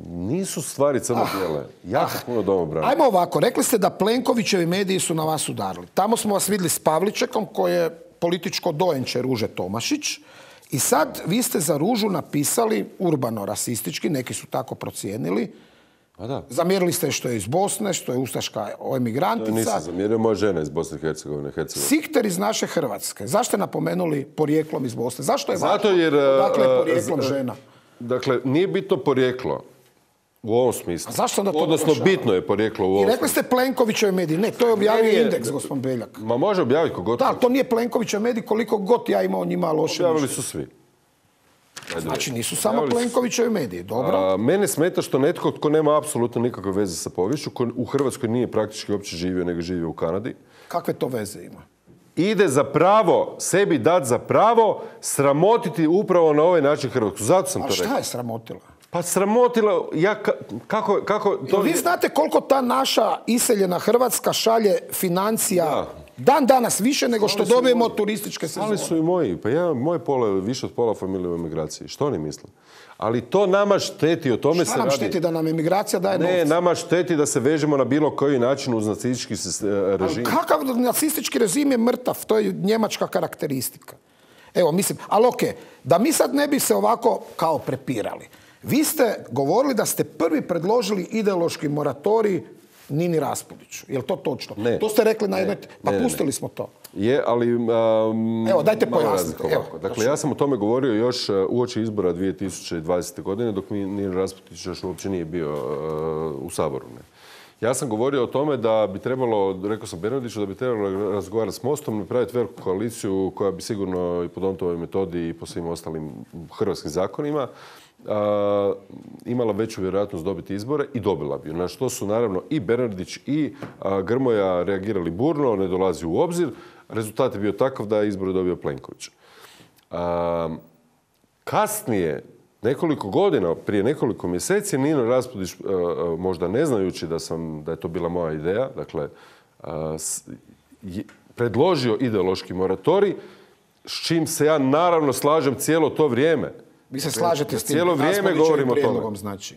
Nisu stvari crno-bijele. Jako puno domobrana. Ajmo ovako, rekli ste da Plenkovićevi mediji su na vas udarili. Tamo smo vas vidjeli s Pavličekom, koji je političko dojenče Ruže Tomašić. I sad vi ste za Ružu napisali urbano-rasistički, neki su tako procijenili. A da. Zamjerili ste što je iz Bosne, što je ustaška emigrantica. Nisam zamjerio, moja žena iz Bosne i Hercegovine. Sikter iz naše Hrvatske. Zašto ste napomenuli porijeklom iz Bosne? Zašto je Zato jer, dakle, porijeklom žena? Dakle, nije bitno porijeklo u ovom smislu. A zašto onda to odnosno, naglašava? Bitno je porijeklo u ovom smislu. I rekli ste Plenkovićevi mediji. Ne, to je objavio Indeks, gospodin Beljak. Ma može objaviti kogod. Da, to nije Plenkovićev medij, koliko god ja imao njima loše. Objavili su svi. Znači nisu samo Plenkovićevi mediji, dobro. Mene smeta što netko tko nema apsolutno nikakve veze sa poviješću, ko u Hrvatskoj nije praktički uopće živio, nego živio u Kanadi. Kakve to veze ima? Ide za pravo, sebi dati za pravo, sramotiti upravo na ovaj način Hrvatsku. Zato sam to rekao. A šta je sramotila? Pa sramotila, kako to... Vi znate koliko ta naša iseljena Hrvatska šalje financija dan danas više nego što dobijemo od turističke sezone. Ali su i moji. Pa moj pola je više od pola familije u emigraciji. Što oni misle? Ali to nama šteti, o tome se radi. Šta nam šteti da nam emigracija daje novce? Ne, nama šteti da se vežemo na bilo koji način uz nacistički režim. Ali kakav nacistički režim je mrtav? To je njemačka karakteristika. Evo, mislim, ali okej, da mi sad ne bi se ovako kao prepirali. Vi ste govorili da ste prvi predložili ideološki moratorij Nini Raspudiću. Je li to točno? Ne. To ste rekli na jednoj... Pa pustili smo to. Je, ali... Evo, dajte pojasnite. Dakle, ja sam o tome govorio još uoči izbora 2020. godine, dok Nini Raspudić još uopće nije bio u Saboru. Ne. Ja sam govorio o tome da bi trebalo, rekao sam Bernardiću, da bi trebalo razgovarati s Mostom, napraviti veliku koaliciju koja bi sigurno i po Dontovoj metodi i po svim ostalim hrvatskim zakonima imala veću vjerojatnost dobiti izbore i dobila bi. Na što su naravno i Bernardić i Grmoja reagirali burno, ne dolazi u obzir. Rezultat je bio takav da je izbore dobio Plenković. Kasnije, nekoliko godina, prije nekoliko mjeseci, Nino Raspudić, možda ne znajući da je to bila moja ideja, dakle, predložio ideološki moratorij, s čim se ja naravno slažem cijelo to vrijeme. Vi se slažete s tim? Cijelo vrijeme govorimo o tome. Znači.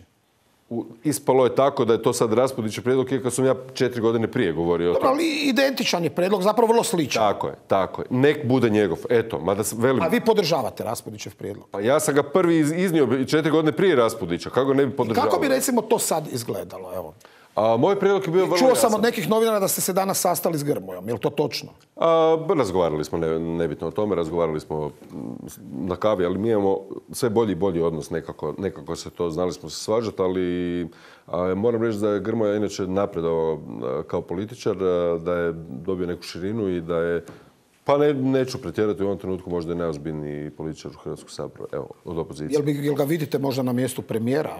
Ispalo je tako da je to sad Raspudićev prijedlog, jer kad sam ja 4 godine prije govorio o tome. Ali identičan je prijedlog, zapravo vrlo sličan. Tako je. Nek bude njegov. Eto, mada velim... A vi podržavate Raspudićev prijedlog? Pa ja sam ga prvi iznio 4 godine prije Raspudića. Kako ne bi podržavao? Kako bi recimo to sad izgledalo? Evo. Moj prijedlog je bio vrlo jasan. jasan. Čuo sam od nekih novinara da ste se danas sastali s Grmojom. Je li to točno? Razgovarali smo, nebitno o tome, razgovarali smo na kavi, ali mi imamo sve bolji i bolji odnos nekako se to, znali smo se svađati, ali moram reći da je Grmoja inače napredovao kao političar, da je dobio neku širinu i da je, pa neću pretjerati u ovom trenutku, možda je najozbiljniji političar u Hrvatskom saboru, evo, od opozicije. Jel ga vidite možda na mjestu premijera?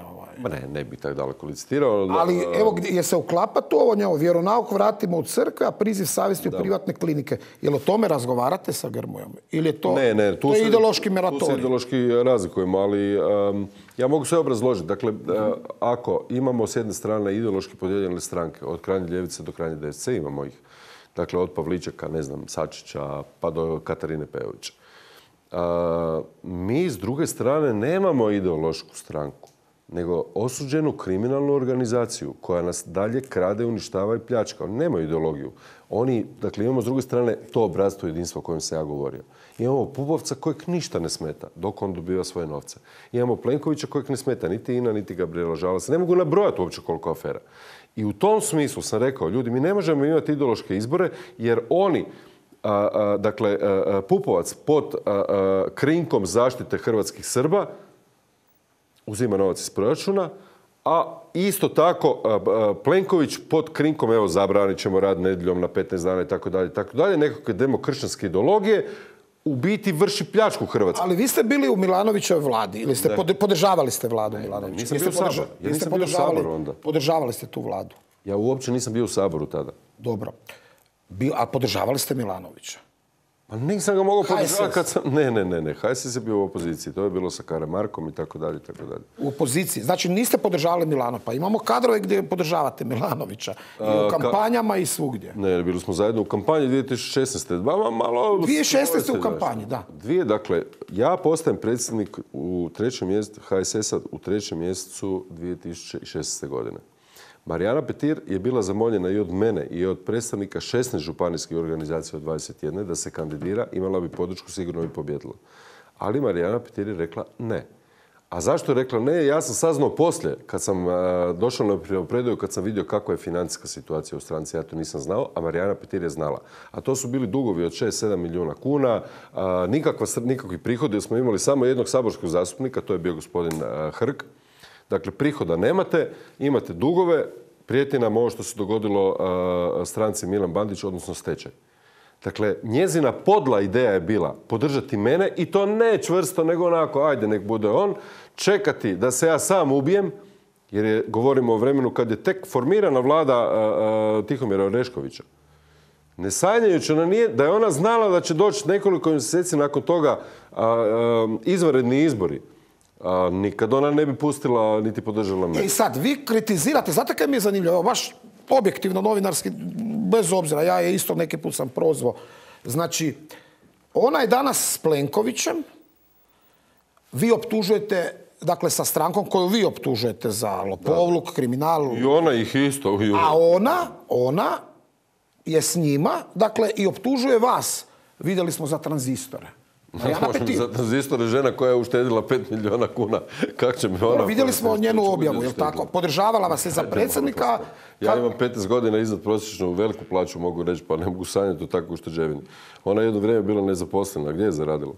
Ne bih tako daleko licitirao. Ali evo, je se uklapa to ovo njevo, vjeronauk vratimo u crkve, a priziv savjesti u privatne klinike. Jel o tome razgovarate sa Grmojom? Ili je to, to je ideološki moratorij? Tu se ideološki razlikujemo, ali ja mogu sve obrazložiti. Dakle, ako imamo s jedne strane ideološki podijeljene stranke, od krajnje ljevice do krajnje desnice, imamo ih. Dakle, od Pavličeka, Sačića, pa do Katarine Pejovića. Mi, s druge strane, nemamo ideološku stranku, nego osuđenu kriminalnu organizaciju koja nas dalje krade, uništava i pljačka. Oni nemaju ideologiju. Dakle, imamo s druge strane to obrazstvo jedinstva o kojem sam ja govorio. Imamo Pupovca kojeg ništa ne smeta dok on dobiva svoje novce. Imamo Plenkovića kojeg ne smeta niti Ina, niti Gabrijela Žalac. Ne mogu nabrojati uopće koliko afera. I u tom smislu sam rekao, ljudi, mi ne možemo imati ideološke izbore jer oni, dakle, Pupovac pod krinkom zaštite hrvatskih Srba uzima novac iz proračuna, a isto tako Plenković pod krinkom, evo, zabranit ćemo rad nedjeljom na 15 dana i tako dalje, nekakve demokršćanske ideologije, u biti vrši pljačku Hrvatske. Ali vi ste bili u Milanovićevoj vladi ili ste podržavali ste vladu Milanovića? Nisam bio u Saboru. Ja nisam bio u Saboru onda. Podržavali ste tu vladu? Ja uopće nisam bio u Saboru tada. Dobro. A podržavali ste Milanovića? Pa nisam ga mogao podržavati kad sam... Ne. HSS je bio u opoziciji. To je bilo sa Karamarkom i tako dalje. U opoziciji. Znači niste podržavali Milano. Pa imamo kadrove gdje podržavate Milanovića. I u kampanjama i svugdje. Ne, bili smo zajedno u kampanji 2016. 2016. u kampanji, da. Dakle, ja postajem predsjednik u 3. mjesecu HSS-a u 3. mjesecu 2016. godine. Marijana Petir je bila zamoljena i od mene i od predstavnika 16 županijskih organizacija od 21 da se kandidira, imala bi podršku, sigurno bi pobjedila. Ali Marijana Petir je rekla ne. A zašto je rekla ne? Ja sam saznao poslije, kad sam došao na primopredaju, kad sam vidio kakva je financijska situacija u stranci, ja to nisam znao, a Marijana Petir je znala. A to su bili dugovi od 6-7 milijuna kuna, nikakvi prihodi, jer smo imali samo jednog saborskog zastupnika, to je bio gospodin Hrg. Dakle, prihoda nemate, imate dugove, prijeti nam ovo što se dogodilo stranci Milan Bandić, odnosno stečaj. Dakle, njezina podla ideja je bila podržati mene i to ne čvrsto, nego onako, ajde, nek bude on, čekati da se ja sam ubijem, jer govorimo o vremenu kad je tek formirana vlada Tihomira Oreškovića. Ne sanjajući da je ona znala da će doći nekoliko mjeseci nakon toga izvanredni izbori. Nikad ona ne bi pustila niti podržala me. I sad, vi kritizirate, znate kaj mi je zanimljivo, baš objektivno novinarski, bez obzira, ja je isto neki put sam prozvao. Znači, ona je danas s Plenkovićem, vi optužujete, dakle sa strankom koju vi optužujete za lopovluk, kriminal. I ona ih isto. A ona je s njima, dakle, i optužuje vas. Vidjeli smo za tranzistore. Za tranzistore žena koja je uštedila 5 milijuna kuna. Kako će mi ona... Vidjeli smo njenu objavu, je li tako? Podržavala vas je za predsjednika. Ja imam 15 godina iznad prosječnu veliku plaću, mogu reći, pa ne mogu sanjati o takvoj ušteđevini. Ona je jedno vrijeme bila nezaposlena. Gdje je zaradila?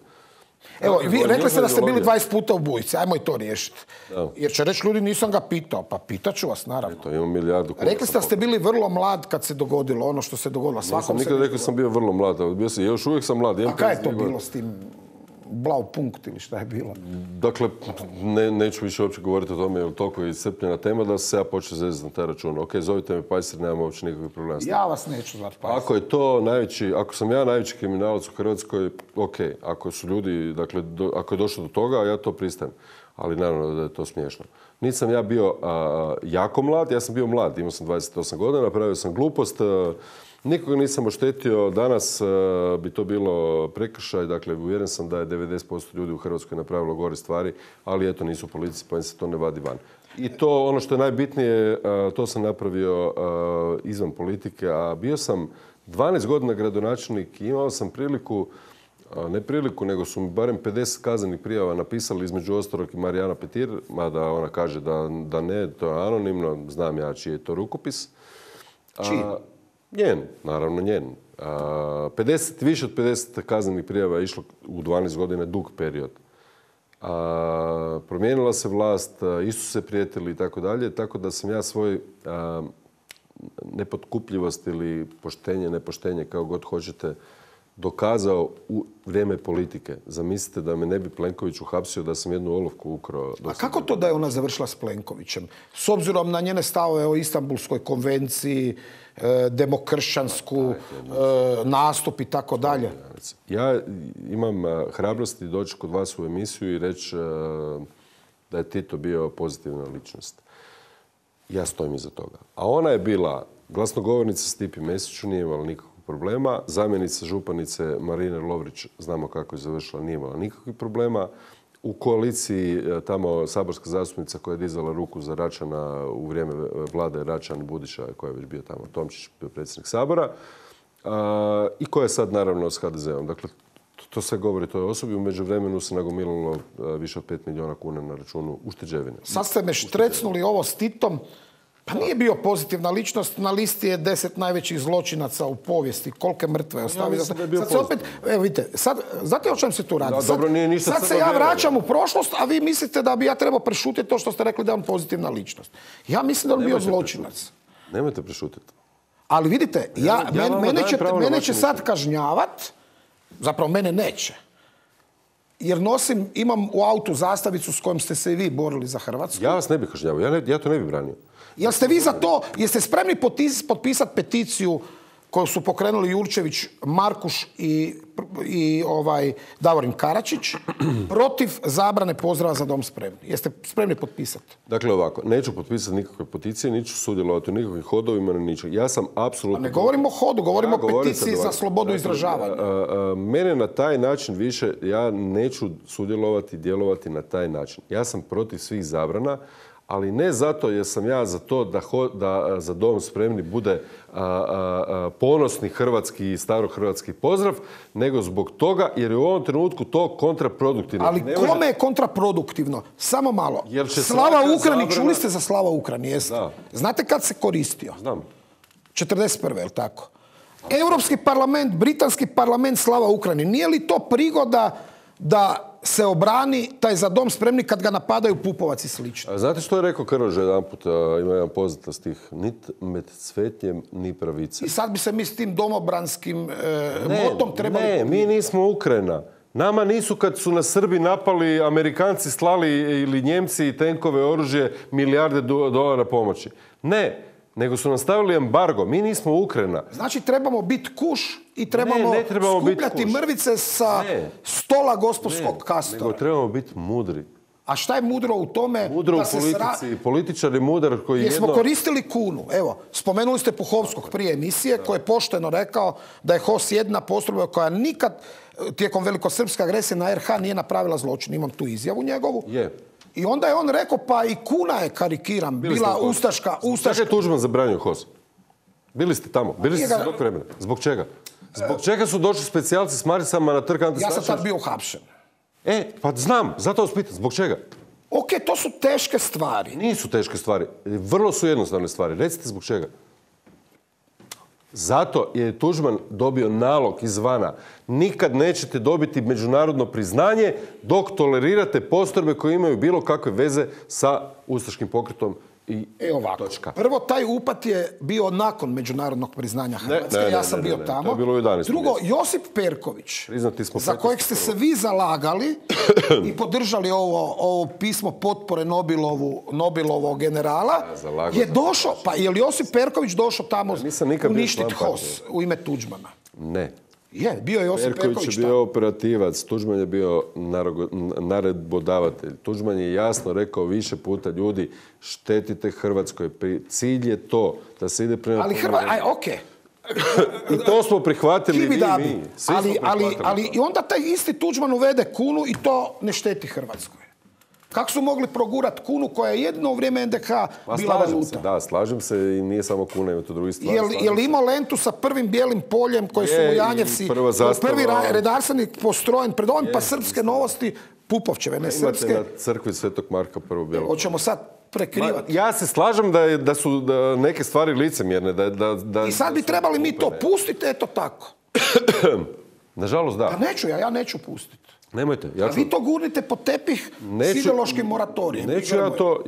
Evo, vi rekli ste da ste bili 20 puta u Bujici. Ajmo i to riješiti. Jer će reći ljudi, nisam ga pitao. Pa pitaću vas, naravno. Eto, imam milijardu kuna. Rekli ste da ste bili vrlo mlad kad se dogodilo ono što se dogodilo. Nisam nikad rekao sam bio vrlo mlad. Još uvijek sam mlad. A kaj je to bilo s tim Blaupunkt ili šta je bilo? Dakle, neću više uopće govoriti o tome, jer toliko je iscrpljena tema da se ja počeo zezati na taj račun. Ok, zovite me Pajser, nemam uopće nikakvih problema. Ja vas neću zvati Pajser. Ako sam ja najveći kriminalac u Hrvatskoj, ok. Ako su ljudi, dakle, ako je došlo do toga, ja to pristajem. Ali naravno da je to smiješno. Nisam ja bio jako mlad, ja sam bio mlad, imao sam 28 godina, napravio sam glupost, nikoga nisam oštetio, danas bi to bilo prekršaj, dakle uvjeren sam da je 90% ljudi u Hrvatskoj napravilo gore stvari, ali eto nisu politici pa im se to ne vadi van. I to ono što je najbitnije, to sam napravio izvan politike, a bio sam 12 godina gradonačelnik i imao sam nego su mi barem 50 kaznenih prijava napisali, između ostalog i Marijana Petir, mada ona kaže da ne, to je anonimno, znam ja čiji je to rukopis. Čiji? Njen, naravno njen. Više od 50 kaznenih prijava je išlo u 12 godina, dug period. Promijenila se vlast, isto se prijetili i tako dalje, tako da sam ja svoj nepotkupljivost ili poštenje, nepoštenje, kao god hoćete, dokazao u vrijeme politike. Zamislite da me ne bi Plenković uhapsio da sam jednu olovku ukrao. A kako to da je ona završila s Plenkovićem? S obzirom na njene stavove o Istanbulskoj konvenciji, demokršćansku, nastup i tako dalje? Ja imam hrabrosti doći kod vas u emisiju i reći da je Tito bio pozitivna ličnost. Ja stojim iza toga. A ona je bila glasnogovornica Stipi Mesiću, nije imala nikakvog problema. Zamjenica županice Marine Lovrić, znamo kako je završila, nije imala nikakvih problema. U koaliciji tamo saborska zastupnica koja je dizala ruku za Račana u vrijeme vlade Račan Budiša, koja je već bio tamo, Tomčić bio predsjednik Sabora, i koja je sad naravno s HDZ-om. Dakle, to sve govori toj osobi. U međuvremenu se nagomilalo više od 5 milijuna kuna na računu ušteđevine. Sad ste me štrecnuli ovo s Titom. Pa nije bio pozitivna ličnost, na listi je 10 najvećih zločinaca u povijesti. Kolike mrtve je ostavio. Sad se opet, evo vidite, sad, znate o čem se tu radi? Sad se ja vraćam u prošlost, a vi mislite da bi ja trebao prešutiti to što ste rekli da je on pozitivna ličnost. Ja mislim da on bio zločinac. Nemojte prešutiti. Ali vidite, mene će sad kažnjavat, zapravo mene neće. Jer imam u autu zastavicu s kojom ste se i vi borili za Hrvatsku. Ja vas ne bih kažnjavao, ja to ne bih branio. Jel ste vi za to, jeste spremni potpisati peticiju koju su pokrenuli Jurčević, Markuš i Davorin Karačić protiv zabrane pozdrava Za dom spremni. Jeste spremni potpisati? Dakle ovako, neću potpisati nikakve peticije, neću sudjelovati u nikakvim hodovima, ni ničeg. Ja sam apsolutno... Ne govorimo o hodu, govorimo o peticiji za slobodu izražavanja. Mene na taj način više, ja neću sudjelovati, djelovati na taj način. Ja sam protiv svih zabrana, ali ne zato jer sam ja za to da Za dom spremni bude ponosni hrvatski i starohrvatski pozdrav, nego zbog toga jer je u ovom trenutku to kontraproduktivno. Ali kome je kontraproduktivno? Samo malo. Slava Ukrajini, čuli ste za Slava Ukrajini, jeste? Da. Znate kad se koristio? Znam. 41. je li tako? Europski parlament, britanski parlament, Slava Ukrajini. Nije li to prigoda da se obrani taj Za dom spremni kad ga napadaju Pupovac i slično? Znate što je rekao Krleža jedanput, ima jedan poznat stih, nit med cvetnjem, ni pravice. I sad bi se mi s tim domobranskim motom trebali... Ne, mi nismo Ukrajina. Nama nisu kad su nas Srbi napali, Amerikanci slali ili Njemci tenkove, oružje, milijarde dolara pomoći. Ne, nego su nam stavili embargo. Mi nismo Ukrajina. Znači trebamo biti kuš i trebamo skupljati mrvice sa stola gospodskog kastora. Nego trebamo biti mudri. A šta je mudro u tome? Mudro u politici. Političar je mudar koji Jesmo koristili kunu. Evo, spomenuli ste Puhovskog prije emisije koji je pošteno rekao da je HOS jedna postrojba koja nikad tijekom velikosrpske agresije na RH nije napravila zločin. Imam tu izjavu njegovu. Je. I onda je on rekao, pa i kuna je, karikiram, bila ustaška. Zašto je Tuđman zabranio HOS? Bili ste tamo. Bili ste svog vremena. Zbog čega? Zbog čega su došli specijalci s maricama na trg Ante Starčevića? Ja sam tad bio uhapšen. Pa znam, zato vas pitam. Zbog čega? Ok, to su teške stvari. Nisu teške stvari. Vrlo su jednostavne stvari. Recite zbog čega. Zato je Tuđman dobio nalog izvana. Nikad nećete dobiti međunarodno priznanje dok tolerirate postrojbe koje imaju bilo kakve veze sa ustaškim pokretom i točka. Prvo, taj upad je bio nakon međunarodnog priznanja Hrvatske. Ja sam bio tamo. To je bilo u 11. Drugo, Josip Perković, za kojeg ste se vi zalagali i podržali ovo pismo potpore Nobelovog generala, je došao, pa je li Josip Perković došao tamo uništiti HOS u ime Tuđmana? Ne. Je, bio je Josip Perković je bio operativac, Tuđman je bio naredbodavatelj. Tuđman je jasno rekao više puta, ljudi, štetite Hrvatskoj. Cilj je to da se ide prema... Ali okej. I to smo prihvatili mi. Ali i onda taj isti Tuđman uvede kunu i to ne šteti Hrvatskoj. Kako su mogli progurati kunu koja je jedno u vrijeme NDH bila valuta? Slažem se i nije samo kuna, ima to drugi stvari. Je li imao lentu sa prvim bijelim poljem koji su u Janjevci, prvi redarstvenik postrojen pred ovim, pa Srpske novosti, Pupovčeve, ne srpske. Imate na crkvi Svetog Marka prvo bijelo. Hoćemo sad prekrivati. Ja se slažem da su neke stvari licemjerne. I sad bi trebali mi to pustiti, eto tako. Nažalost, da. Pa neću ja neću pustiti. Nemojte. Vi to gurnite pod tepih s ideološkim moratorijem. Neću ja to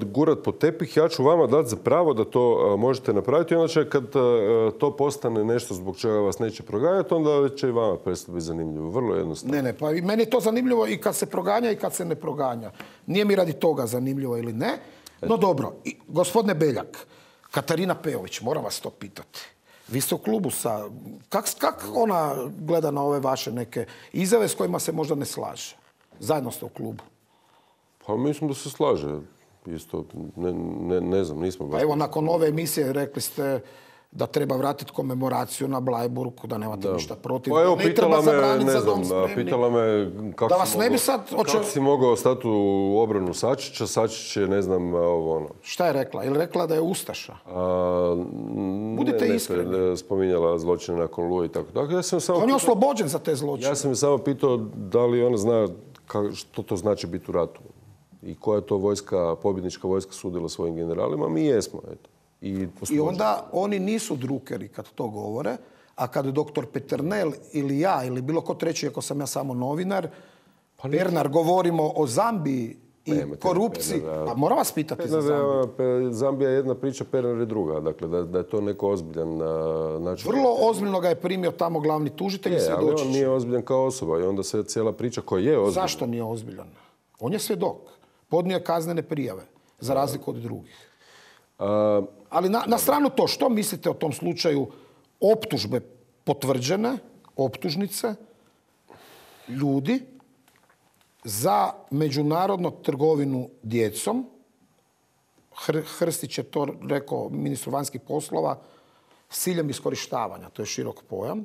gurat pod tepih, ja ću vama dati za pravo da to možete napraviti. I onda će kad to postane nešto zbog čega vas neće proganjati, onda će i vama prestati biti zanimljivo. Vrlo jednostavno. Ne, pa meni je to zanimljivo i kad se proganja i kad se ne proganja. Nije mi radi toga zanimljivo ili ne. No dobro, gospodine Beljak, Katarina Peović, moram vas to pitati. Vi ste u klubu sa... Kak ona gleda na ove vaše neke izjave s kojima se možda ne slaže? Zajedno ste u klubu. Pa mislim da se slaže. Isto, ne znam, nismo baš... Pa evo, nakon ove emisije rekli ste da treba vratiti komemoraciju na Blajburgu, da nemate ništa protiv. Pa evo, pitala me kako si mogao stati u obranu Sačića. Sačić je, ne znam, ono... Šta je rekla? Je li rekla da je ustaša? Budite iskreni. Spominjala zločine nakon Oluje i tako. On je oslobođen za te zločine. Ja sam je samo pitao da li ona zna što to znači biti u ratu. I koja je to pobjednička vojska sudila svojim generalima. Mi jesmo, eto. I onda oni nisu drukeri kad to govore, a kad doktor Peternel ili ja ili bilo ko treći, ako sam ja samo novinar, Pernar, govorimo o Zambiji i korupciji. Pa moram vas pitati za Zambiju. Zambija je jedna priča, Pernar je druga. Dakle, da je to neko ozbiljan način. Vrlo ozbiljno ga je primio tamo glavni tužitelj i svjedočić. Ali on nije ozbiljan kao osoba i onda se cijela priča koja je ozbiljna. Zašto nije ozbiljan? On je svjedok. Podnio je kaznene prijave, za razliku od drugih. Ali na stranu to, što mislite o tom slučaju optužbe potvrđene, optužnice, ljudi za međunarodnu trgovinu djecom. Hrstić je to rekao ministru vanjskih poslova s ciljem iskorištavanja. To je širok pojam.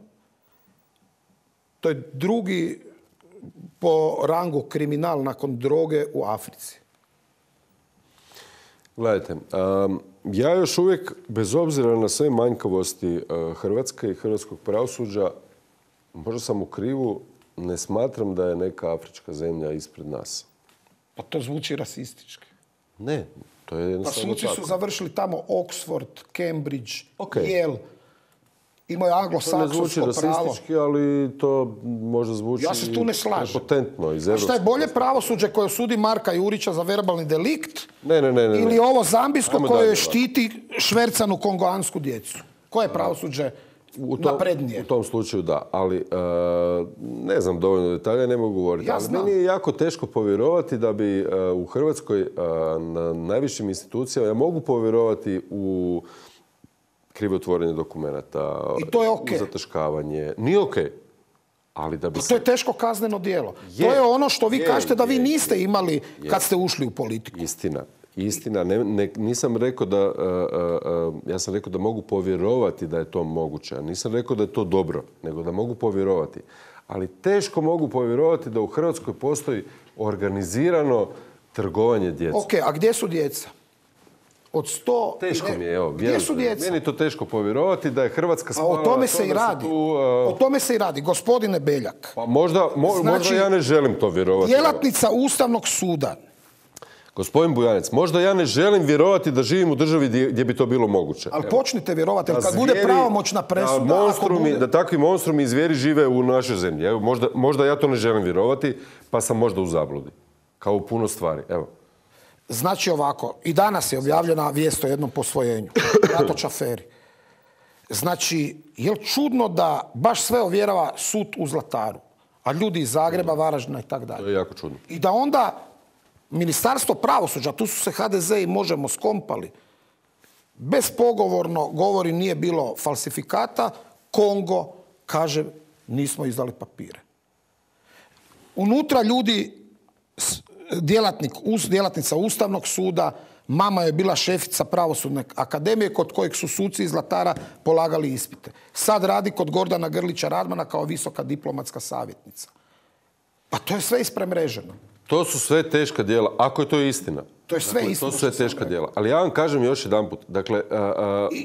To je drugi po rangu kriminal nakon droge u Africi. Gledajte, ja još uvijek, bez obzira na sve manjkavosti Hrvatske i hrvatskog pravosuđa, možda sam u krivu, ne smatram da je neka afrička zemlja ispred nas. Pa to zvuči rasistički. Ne, to je jednostavno suci tako. su završili tamo Oxford, Cambridge, Okay. Yale. Imaju anglosaksonsko pravo. To ne zvuči rasistički, ali to možda zvuči ja se tu ne slažem. prepotentno iz A šta je evropskog. bolje pravosuđe koje osudi Marka Jurića za verbalni delikt Ne. ili ovo zambijsko Ajmo koje dalje, štiti švercanu kongoansku djecu? Koje je pravosuđe naprednije? U tom slučaju da, ali ne znam dovoljno detalja, ne mogu govoriti. Ja ali znam. meni je jako teško povjerovati da bi u Hrvatskoj na najvišim institucijama, ja mogu povjerovati u krivotvorenje dokumenata, I to je okej. u zataškavanje. Nije okej. Ali da bi To je teško kazneno djelo. To je ono što vi kažete da vi niste imali kad ste ušli u politiku. Istina. Nisam rekao da, ja sam rekao da mogu povjerovati da je to moguće. A nisam rekao da je to dobro, nego da mogu povjerovati. Ali teško mogu povjerovati da u Hrvatskoj postoji organizirano trgovanje djecom. Ok, a gdje su djeca? Od 100... Teško mi je, evo. Gdje su djeca? Meni je to teško povjerovati da je Hrvatska A spala. o tome se i radi. O tome se i radi. Gospodine Beljak. Pa možda ja ne želim to vjerovati. Djelatnica Ustavnog suda. Gospodin Bujanec, možda ja ne želim vjerovati da živim u državi gdje bi to bilo moguće. Ali počnite vjerovati, kad bude pravomoćna presuda... Da takvi monstrumi i zvijeri žive u našoj zemlji. Evo, možda ja to ne želim vjerovati, pa sam možda u zabludi. Kao u puno stvari. Evo. Znači ovako, i danas je objavljena vijest o jednom posvojenju. Ratoč aferi. Znači, je li čudno da baš sve ovjerava sud u Zlataru, a ljudi iz Zagreba, Varaždina i tako dalje. To je jako čudno. I da onda Ministarstvo pravosuđa, tu su se HDZ i Možemo skompali, bespogovorno govori nije bilo falsifikata, Kongo kaže nismo izdali papire. Unutra ljudi, djelatnica Ustavnog suda, mama je bila šefica Pravosudne akademije kod kojeg su suci iz Zlatara polagali ispite. Sad radi kod Gordana Grlića Radmana kao visoka diplomatska savjetnica. Pa to je sve ispremreženo. To su sve teška djela, ako je to istina. To je sve istina. To su sve teška djela. Ali ja vam kažem još jedanput. Dakle,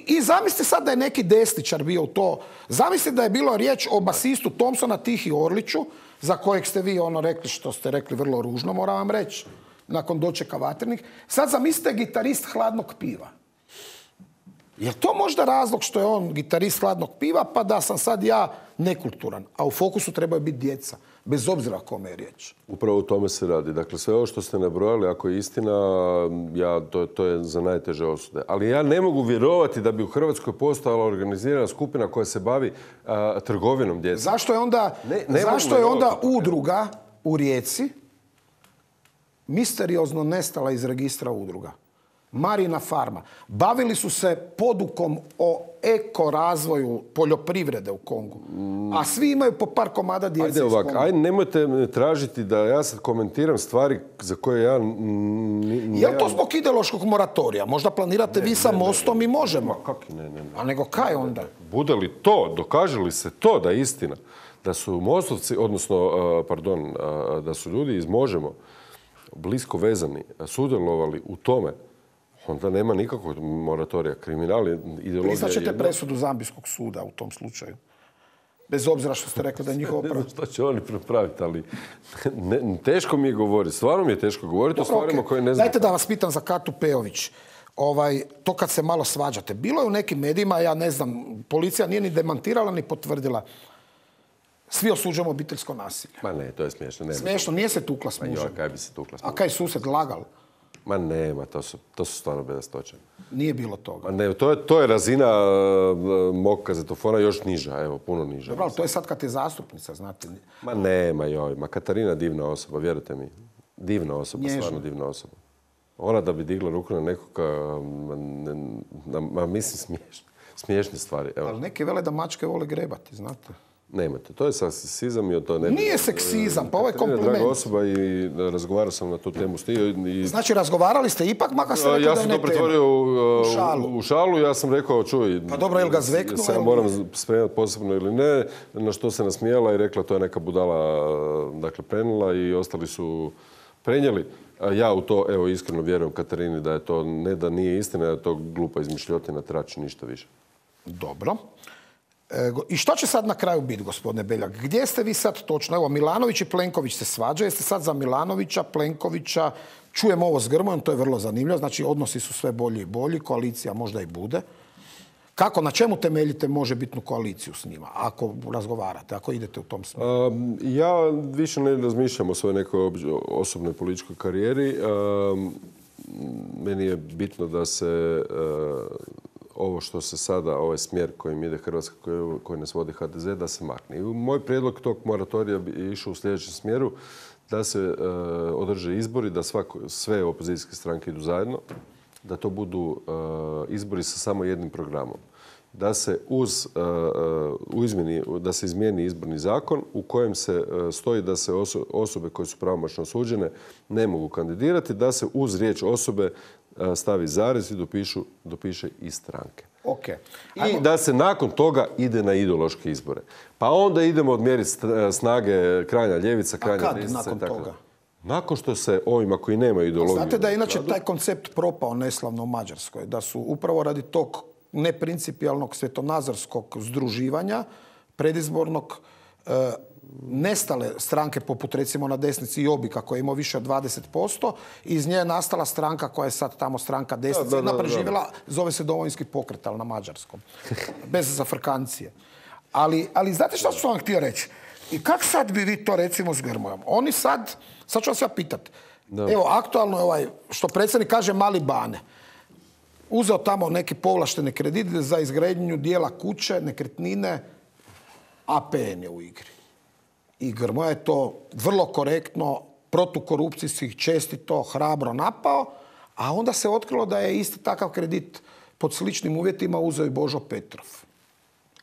I zamislite sad da je neki desničar bio u to. Zamislite da je bilo riječ o basistu Thompsona Tihi Orliću, za kojeg ste vi rekli što ste rekli vrlo ružno, moram vam reći, nakon dočeka Vatrenih. Sad zamislite gitarist Hladnog piva. Je to možda razlog što je on gitarist Hladnog piva, pa da sam sad ja nekulturan? A u fokusu trebaju biti djeca, bez obzira o kome je riječ. Upravo o tome se radi. Dakle, sve ovo što ste nabrojali, ako je istina, to je za najteže osude. Ali ja ne mogu vjerovati da bi u Hrvatskoj postojala organizirana skupina koja se bavi trgovinom djece. Zašto je onda udruga u Rijeci misteriozno nestala iz registra udruga? Marina farma. Bavili su se podukom o ekorazvoju poljoprivrede u Kongu. A svi imaju po par komada djece iz Konga. Ajde, nemojte tražiti da ja sad komentiram stvari za koje ja... Je li to zbog ideološkog moratorija? Možda planirate vi sa Mostom i Možemo. Kaki ne. A nego kaj onda? Bude li to, dokaže li se to da je istina, da su Mostovci, odnosno, da su ljudi iz Možemo blisko vezani, sudjelovali u tome, onda nema nikakvog moratorija. Kriminal je ideologija. Priznaćete presudu Zambijskog suda u tom slučaju? Bez obzira što ste rekli da je njihovo pravo. Ne znam što će oni prepraviti, ali teško mi je govoriti. Stvarno mi je teško govoriti o stvarima koje ne znam. Dajte da vas pitam za Katu Pejović. To kad se malo svađate. Bilo je u nekim medijima, ja ne znam, policija nije ni demantirala ni potvrdila. Svi osuđujemo obiteljsko nasilje. Ma ne, to je smiješno. Smiješno, nije se tukla s mužem. Kaj bi se tukla s mužem? A kaj susjed lagal? Ma nema, to su stvarno bedastoće. Nije bilo toga. Ma ne, to je razina mog kazetofona još niža, evo, puno niža. Dobro, ali to je sad kad je zastupnica, znate. Ma nema, ma Katarina divna osoba, vjerujte mi. Divna osoba, Nježna. stvarno divna osoba. Ona da bi digla ruku na nekoga, mislim smiješno. smiješne stvari. Evo. Ali neki vele da mačke vole grebati, znate. Nemojte, to je seksizam i to ne... Nije seksizam, pa ovo je kompliment. Draga osoba i razgovarao sam na tu temu s njim. Znači, razgovarali ste ipak, makar ste rekli da je ne tema. Ja sam to pretvorio u šalu, ja sam rekao, čuj... Pa dobro, jel ga zveknuo? Sad moram spremati posebno ili ne, na što se nasmijala i rekla to je neka budala, dakle, prenula i ostali su prenijeli. Ja u to, evo, iskreno vjerujem Katarini da je to, ne da nije istina, da je to glupa izmišljotina, trači ništa više. Dobro. I što će sad na kraju biti, gospodine Beljak? Gdje ste vi sad točno? Evo, Milanović i Plenković se svađaju. Jeste sad za Milanovića, Plenkovića? Čujemo ovo s Grmojom, to je vrlo zanimljivo. Znači, odnosi su sve bolji i bolji. Koalicija možda i bude. Kako, na čemu temeljite možebitnu koaliciju s njima? Ako razgovarate, ako idete u tom smjeru? Ja više ne razmišljam o svojoj nekoj osobnoj političkoj karijeri. Meni je bitno da se... ovo što se sada, ovaj smjer kojim ide Hrvatska, koji nas vodi HDZ, da se makne. I moj prijedlog tog moratorija bi išao u sljedećem smjeru, da se održe izbori, da sve opozicijske stranke idu zajedno, da to budu izbori sa samo jednim programom. Da se da se izmijeni izborni zakon u kojem se stoji da se osobe koje su pravomoćno osuđene ne mogu kandidirati, da se uz riječ osobe stavi zarez i dopiše i stranke. Okay. I da se nakon toga ide na ideološke izbore. Pa onda idemo odmjeriti snage krajnja ljevica, krajnja desnica. A kad nakon toga? Nakon što se ovima koji nemaju ideologiju... Znate da je inače taj koncept propao neslavno u Mađarskoj. Da su upravo radi tog neprincipijalnog svjetonazorskog združivanja predizbornog nestale stranke poput recimo na desnici Jobbika koja je imao više od 20%. Iz nje je nastala stranka koja je sad tamo stranka desnice. Jedna preživjela, zove se Domovinski pokret, ali na mađarskom. Bez zafrkancije. Ali znate što ću vam htio reći? I kak sad bi vi to recimo s Grmojom? Oni sad ću vas ja pitati. Evo, aktualno je što predsjednik kaže mali Bane. Uzeo tamo neki povlaštene kredite za izgradnju dijela kuće, nekretnine, APN je u igri. I Grmoja je to vrlo korektno, protukorupcijskih čestito, hrabro napao, a onda se otkrilo da je isti takav kredit pod sličnim uvjetima uzeo i Božo Petrov.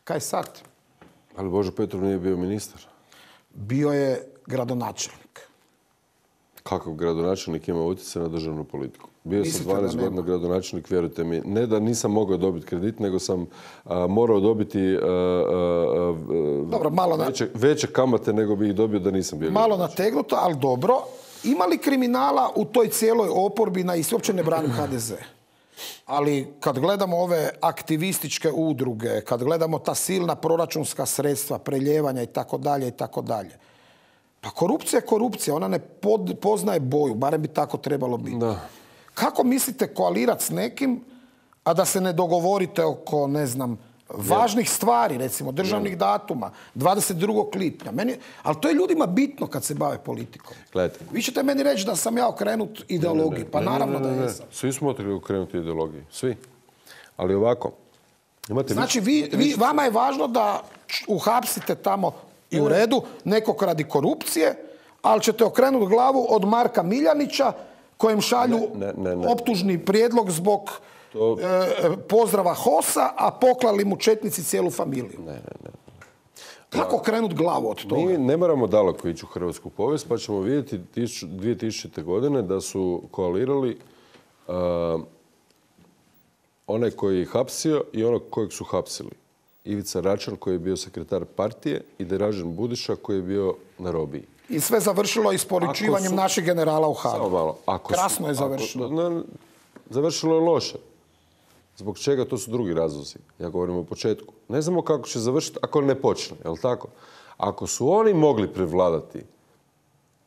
Kaj sad? Ali Božo Petrov nije bio ministar. Bio je gradonačelnik. Kakav gradonačelnik ima utjecaj na državnu politiku? Bio sam 12 godina gradonačelnik, vjerujte mi. Ne da nisam mogao dobiti kredit, nego sam morao dobiti veće kamate nego bi ih dobio da nisam bio malo nategnuto, ali dobro. Ima li kriminala u toj cijeloj oporbi i uopće ne branim HDZ? Ali kad gledamo ove aktivističke udruge, kad gledamo ta silna proračunska sredstva, preljevanja i tako dalje, pa korupcija je korupcija, ona ne poznaje boju, barem bi tako trebalo biti. Da. Kako mislite koalirati s nekim, a da se ne dogovorite oko, ne znam, važnih stvari, recimo državnih datuma, 22. lipnja. Ali to je ljudima bitno kad se bave politikom. Gledajte. Vi ćete meni reći da sam ja okrenut ideologiji. Pa naravno da jesam. Svi smo okrenuti ideologiji. Svi. Ali ovako. Znači, vama je važno da uhapsite tamo i u redu nekog radi korupcije, ali ćete okrenuti glavu od Marka Miljanića kojem šalju optužni prijedlog zbog pozdrava HOS-a, a poklali mu četnici cijelu familiju. Kako krenuti glavu od toga? Mi ne moramo daleko ići u hrvatsku povijest, pa ćemo vidjeti 2000. godine da su koalirali onaj koji je hapsio i onog kojeg su hapsili. Ivica Račan koji je bio sekretar partije i Dražen Budiša koji je bio na robiji. I sve završilo isporučivanjem naših generala u Hagu. Krasno je završilo. Završilo je loše. Zbog čega? To su drugi razlozi. Ja govorim o početku. Ne znamo kako će završiti ako ne počne. Je li tako? Ako su oni mogli prevladati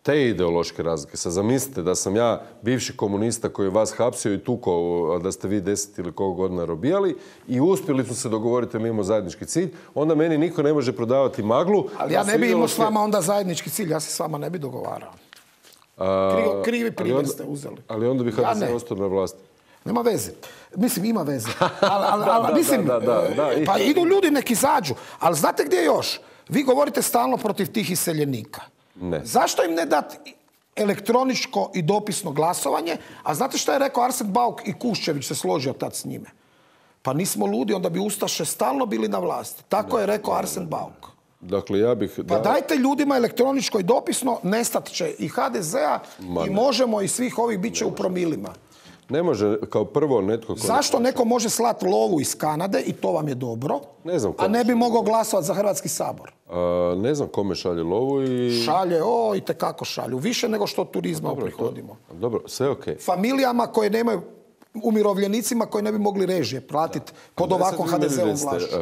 te ideološke razlike, sad zamislite da sam ja bivši komunista koji je vas hapsio i tukao da ste vi 10 ili koliko godina robijali i uspjeli smo se dogovoriti da imamo zajednički cilj, onda meni niko ne može prodavati maglu. Ali ja ne bi imao s vama onda zajednički cilj, ja se s vama ne bi dogovarao. Krivi primjer ste uzeli. Ali onda bi HDZ ostao na vlasti. Nema veze. Mislim, ima veze. Pa idu ljudi neki izađu. Ali znate gdje još? Vi govorite stalno protiv tih iseljenika. Ne. Zašto im ne dati elektroničko i dopisno glasovanje? A znate što je rekao Arsen Bauk i Kuščević se složio tad s njime? Pa nismo ludi, onda bi Ustaše stalno bili na vlasti. Tako je rekao Arsen Bauk. Dakle, ja bih... Pa dajte ljudima elektroničko i dopisno, nestat će i HDZ-a i Možemo i svih ovih bit će u promilima. Ne može, kao prvo netko... Zašto neko može slati lovu iz Kanade i to vam je dobro, a ne bi mogao glasovati za Hrvatski sabor? Ne znam kome šalje lovu i... Šalje, itekako šalju. Više nego što turizma uprihodimo. Dobro, sve okej. Familijama koje nemaju, umirovljenicima koji ne bi mogli režije platiti pod ovakvom HDZ-ovom vlašću.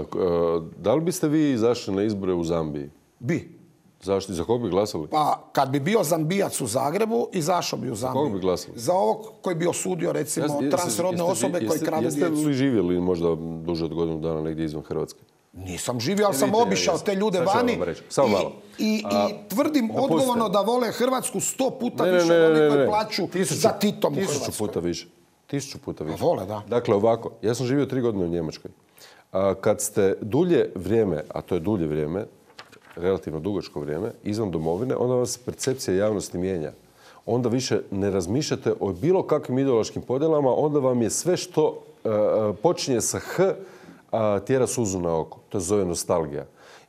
Da li biste vi izašli na izbore u Zambiji? Bi. Zašto? Za kog bi glasali? Pa kad bi bio Zambijac u Zagrebu, izašao bi u Zambiju. Za kog bi glasali? Za ovog koji bi osudio, recimo, transrodne osobe koji kradu djecu. Jeste li živjeli možda duže od godinu dana negdje izvan Hrvatske? Nisam živio, ali sam obišao te ljude vani i tvrdim odgovorno da vole Hrvatsku 100 puta više od onih koji plaću za Titom u Hrvatskoj. 1000 puta više. 1000 puta više. Vole, da. Dakle, ovako, ja sam živio 3 godine u Njemačkoj. Kad ste dulje vrijeme, a to je dulje vrijeme, relativno dugačko vrijeme, izvan domovine, onda vam se percepcija javnosti mijenja. Onda više ne razmišljate o bilo kakvim ideološkim podjelama, onda vam je sve što počinje sa H tjera suzu na oko. To se zove nostalgija.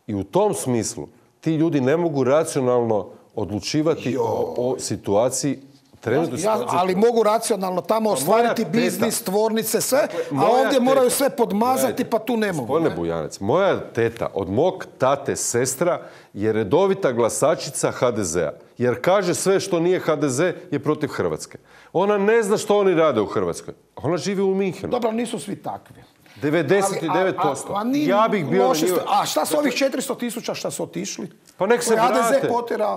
I u tom smislu ti ljudi ne mogu racionalno odlučivati o situaciji. Ali mogu racionalno tamo ostvariti biznis, tvornice, sve, a ovdje moraju sve podmazati, pa tu ne mogu. Gospodine Bujanec, moja teta od mog tate sestra je redovita glasačica HDZ-a. Jer kaže sve što nije HDZ je protiv Hrvatske. Ona ne zna što oni rade u Hrvatskoj. Ona živi u Minhenu. Dobro, nisu svi takvi. 99%. Ja bih bio na njima. A šta su ovih 400.000 šta su otišli? Pa nek se vrate.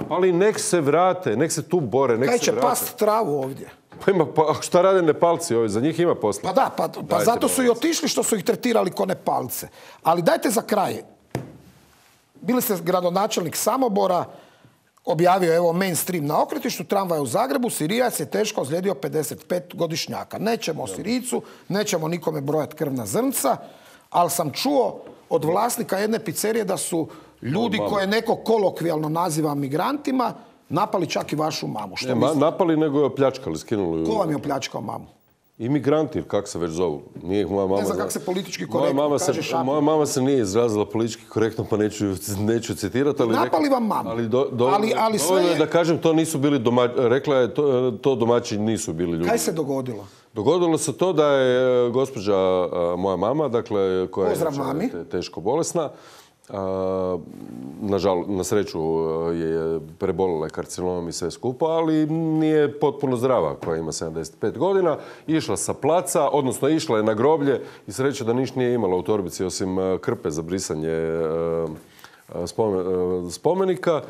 Ali nek se vrate, nek se tu bore, nek se vrate. Kaj će past travu ovdje? Pa šta rade Nepalci ovdje? Za njih ima posla. Pa da, pa zato su i otišli što su ih tretirali ko Nepalce. Ali dajte za kraj. Bili ste gradonačelnik Samobora, objavio evo mainstream na okretištu tramvaja u Zagrebu, Sirijac je teško ozlijedio 55-godišnjaka. Nećemo o Sirijcu, nećemo nikome brojati krvna zrnca, ali sam čuo od vlasnika jedne pizzerije da su ljudi koje neko kolokvijalno naziva migrantima napali čak i vašu mamu. Napali nego je opljačkali, skinuli. Ko vam je opljačkao mamu? Imigranti, kako se već zovu. Nije moja mama. Ne znam kako se politički korektno kaže Šapin. Moja mama se nije izrazila politički korektno, pa neću citirati. Napali vam mamu. Ali sve je da kažem, to nisu bili domaćini. Rekla je, to domaći nisu bili ljudi. Kaj se dogodilo? Dogodilo se to da je gospođa, moja mama, dakle, koja je teško bolesna, na sreću je prebolela karcinomom i sve skupa, ali nije potpuno zdrava, koja ima 75 godina. Išla sa placa, odnosno išla je na groblje i sreća da ništa nije imala u torbici osim krpe za brisanje spomenika.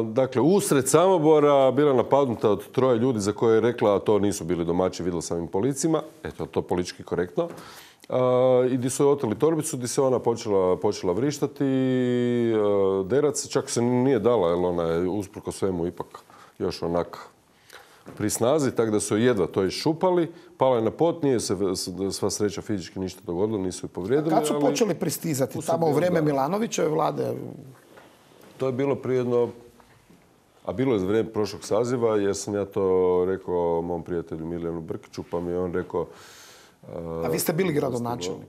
Dakle, usred Samobora bila napadnuta od 3 ljudi za koje je rekla, a to nisu bili domaći, vidjela sam im po licima. Eto, to politički korektno. I gdje su je oteli torbicu, gdje se ona počela vrištati, derat, čak se nije dala, jer ona je usprko svemu ipak još onak pri snazi, tako da su jedva to iščupali, pala je na pot, nije se sva sreća fizički ništa dogodilo, nisu je povrijedili. Kad su počeli pristizati? Tamo u vrijeme Milanovićeve vlade? To je bilo prije jedno, a bilo je za vrijeme prošlog saziva, jer sam ja to rekao mom prijatelju Milijanu Brkiću, pa mi je on rekao... A vi ste bili gradonačelnik?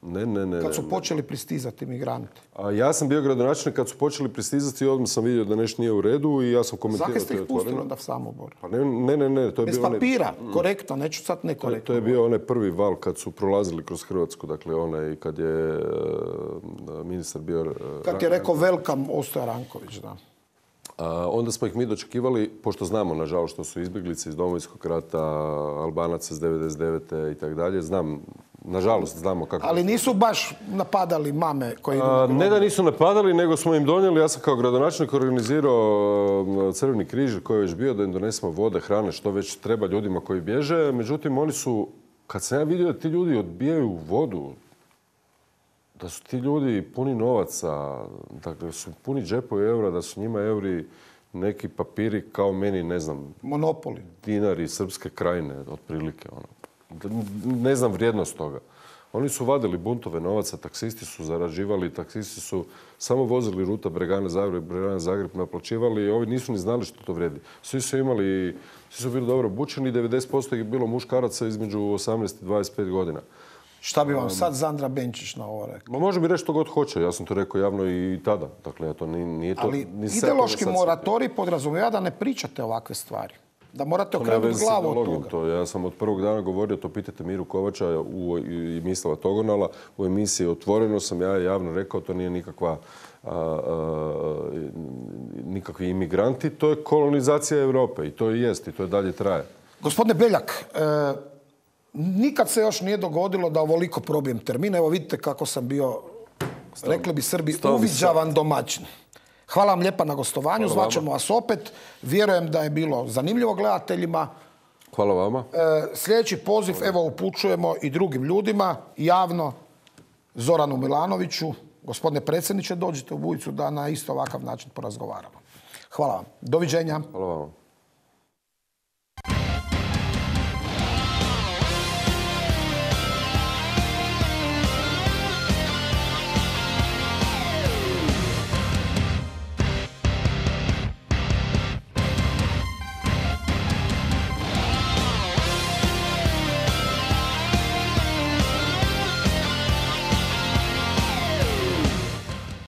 Ne. Kad su počeli pristizati migranti? A ja sam bio gradonačelnik kad su počeli pristizati i odmah sam vidio da nešto nije u redu i ja sam komentirao. Zakaj ste ih pustili onda v Samobor? Pa ne. To je bez papira, korektno, neću sad nekorektno. To je bio onaj prvi val kad su prolazili kroz Hrvatsku, dakle onaj kad je ministar bio... Kad je rekao welcome Ostoja Ranković, da. Onda smo ih mi dočekivali, pošto znamo, nažalost, što su izbjeglice iz Domovinskog rata, Albanaca iz 99. i tako dalje. Nažalost, znamo kako... Ali nisu baš napadali mame koji idu na Ne da nisu napadali, nego smo im donijeli, ja sam kao gradonačelnik organizirao Crveni križ koji je već bio da im donesemo vode, hrane, što već treba ljudima koji bježe. Međutim, oni su, kad sam ja vidio da ti ljudi odbijaju vodu, da su ti ljudi puni novaca, da su puni džepovi eura, da su njima euri neki papiri kao meni, ne znam... Monopoli. Dinari Srpske krajine, otprilike. Ne znam vrijednost toga. Oni su vadili buntove novaca, taksisti su zarađivali, taksisti su samo vozili ruta Bregane-Zagreb, naplaćivali i ovi nisu ni znali što to vrijedi. Svi su bili dobro obučeni, 90% je bilo muškaraca između 18 i 25 godina. Šta bi vam sad Zandra Benčić na ovo rekao? Ma može mi reći što god hoće, ja sam to rekao javno i tada. Dakle, ja to nije to... Ali ideološki moratorij podrazumijeva da ne pričate ovakve stvari. Da morate okrenuti glavu od toga. Ja sam od prvog dana govorio, to pitajte Miru Kovača i Mislava Togonala. U emisiji Otvoreno sam ja javno rekao, to nije nikakvi imigranti, to je kolonizacija Europe i to i jest i to je dalje traje. Gospodine Beljak, nikad se još nije dogodilo da ovoliko probijem termin. Evo vidite kako sam bio, rekli bi Srbi, uviđavan domaćin. Hvala vam lijepa na gostovanju, zvaćemo vas opet. Vjerujem da je bilo zanimljivo gledateljima. Hvala vama. Sljedeći poziv, evo, upućujemo i drugim ljudima, javno, Zoranu Milanoviću. Gospodine predsjedniče, dođite u Bujicu da na isto ovakav način porazgovaramo. Hvala vam. Doviđenja. Hvala vama.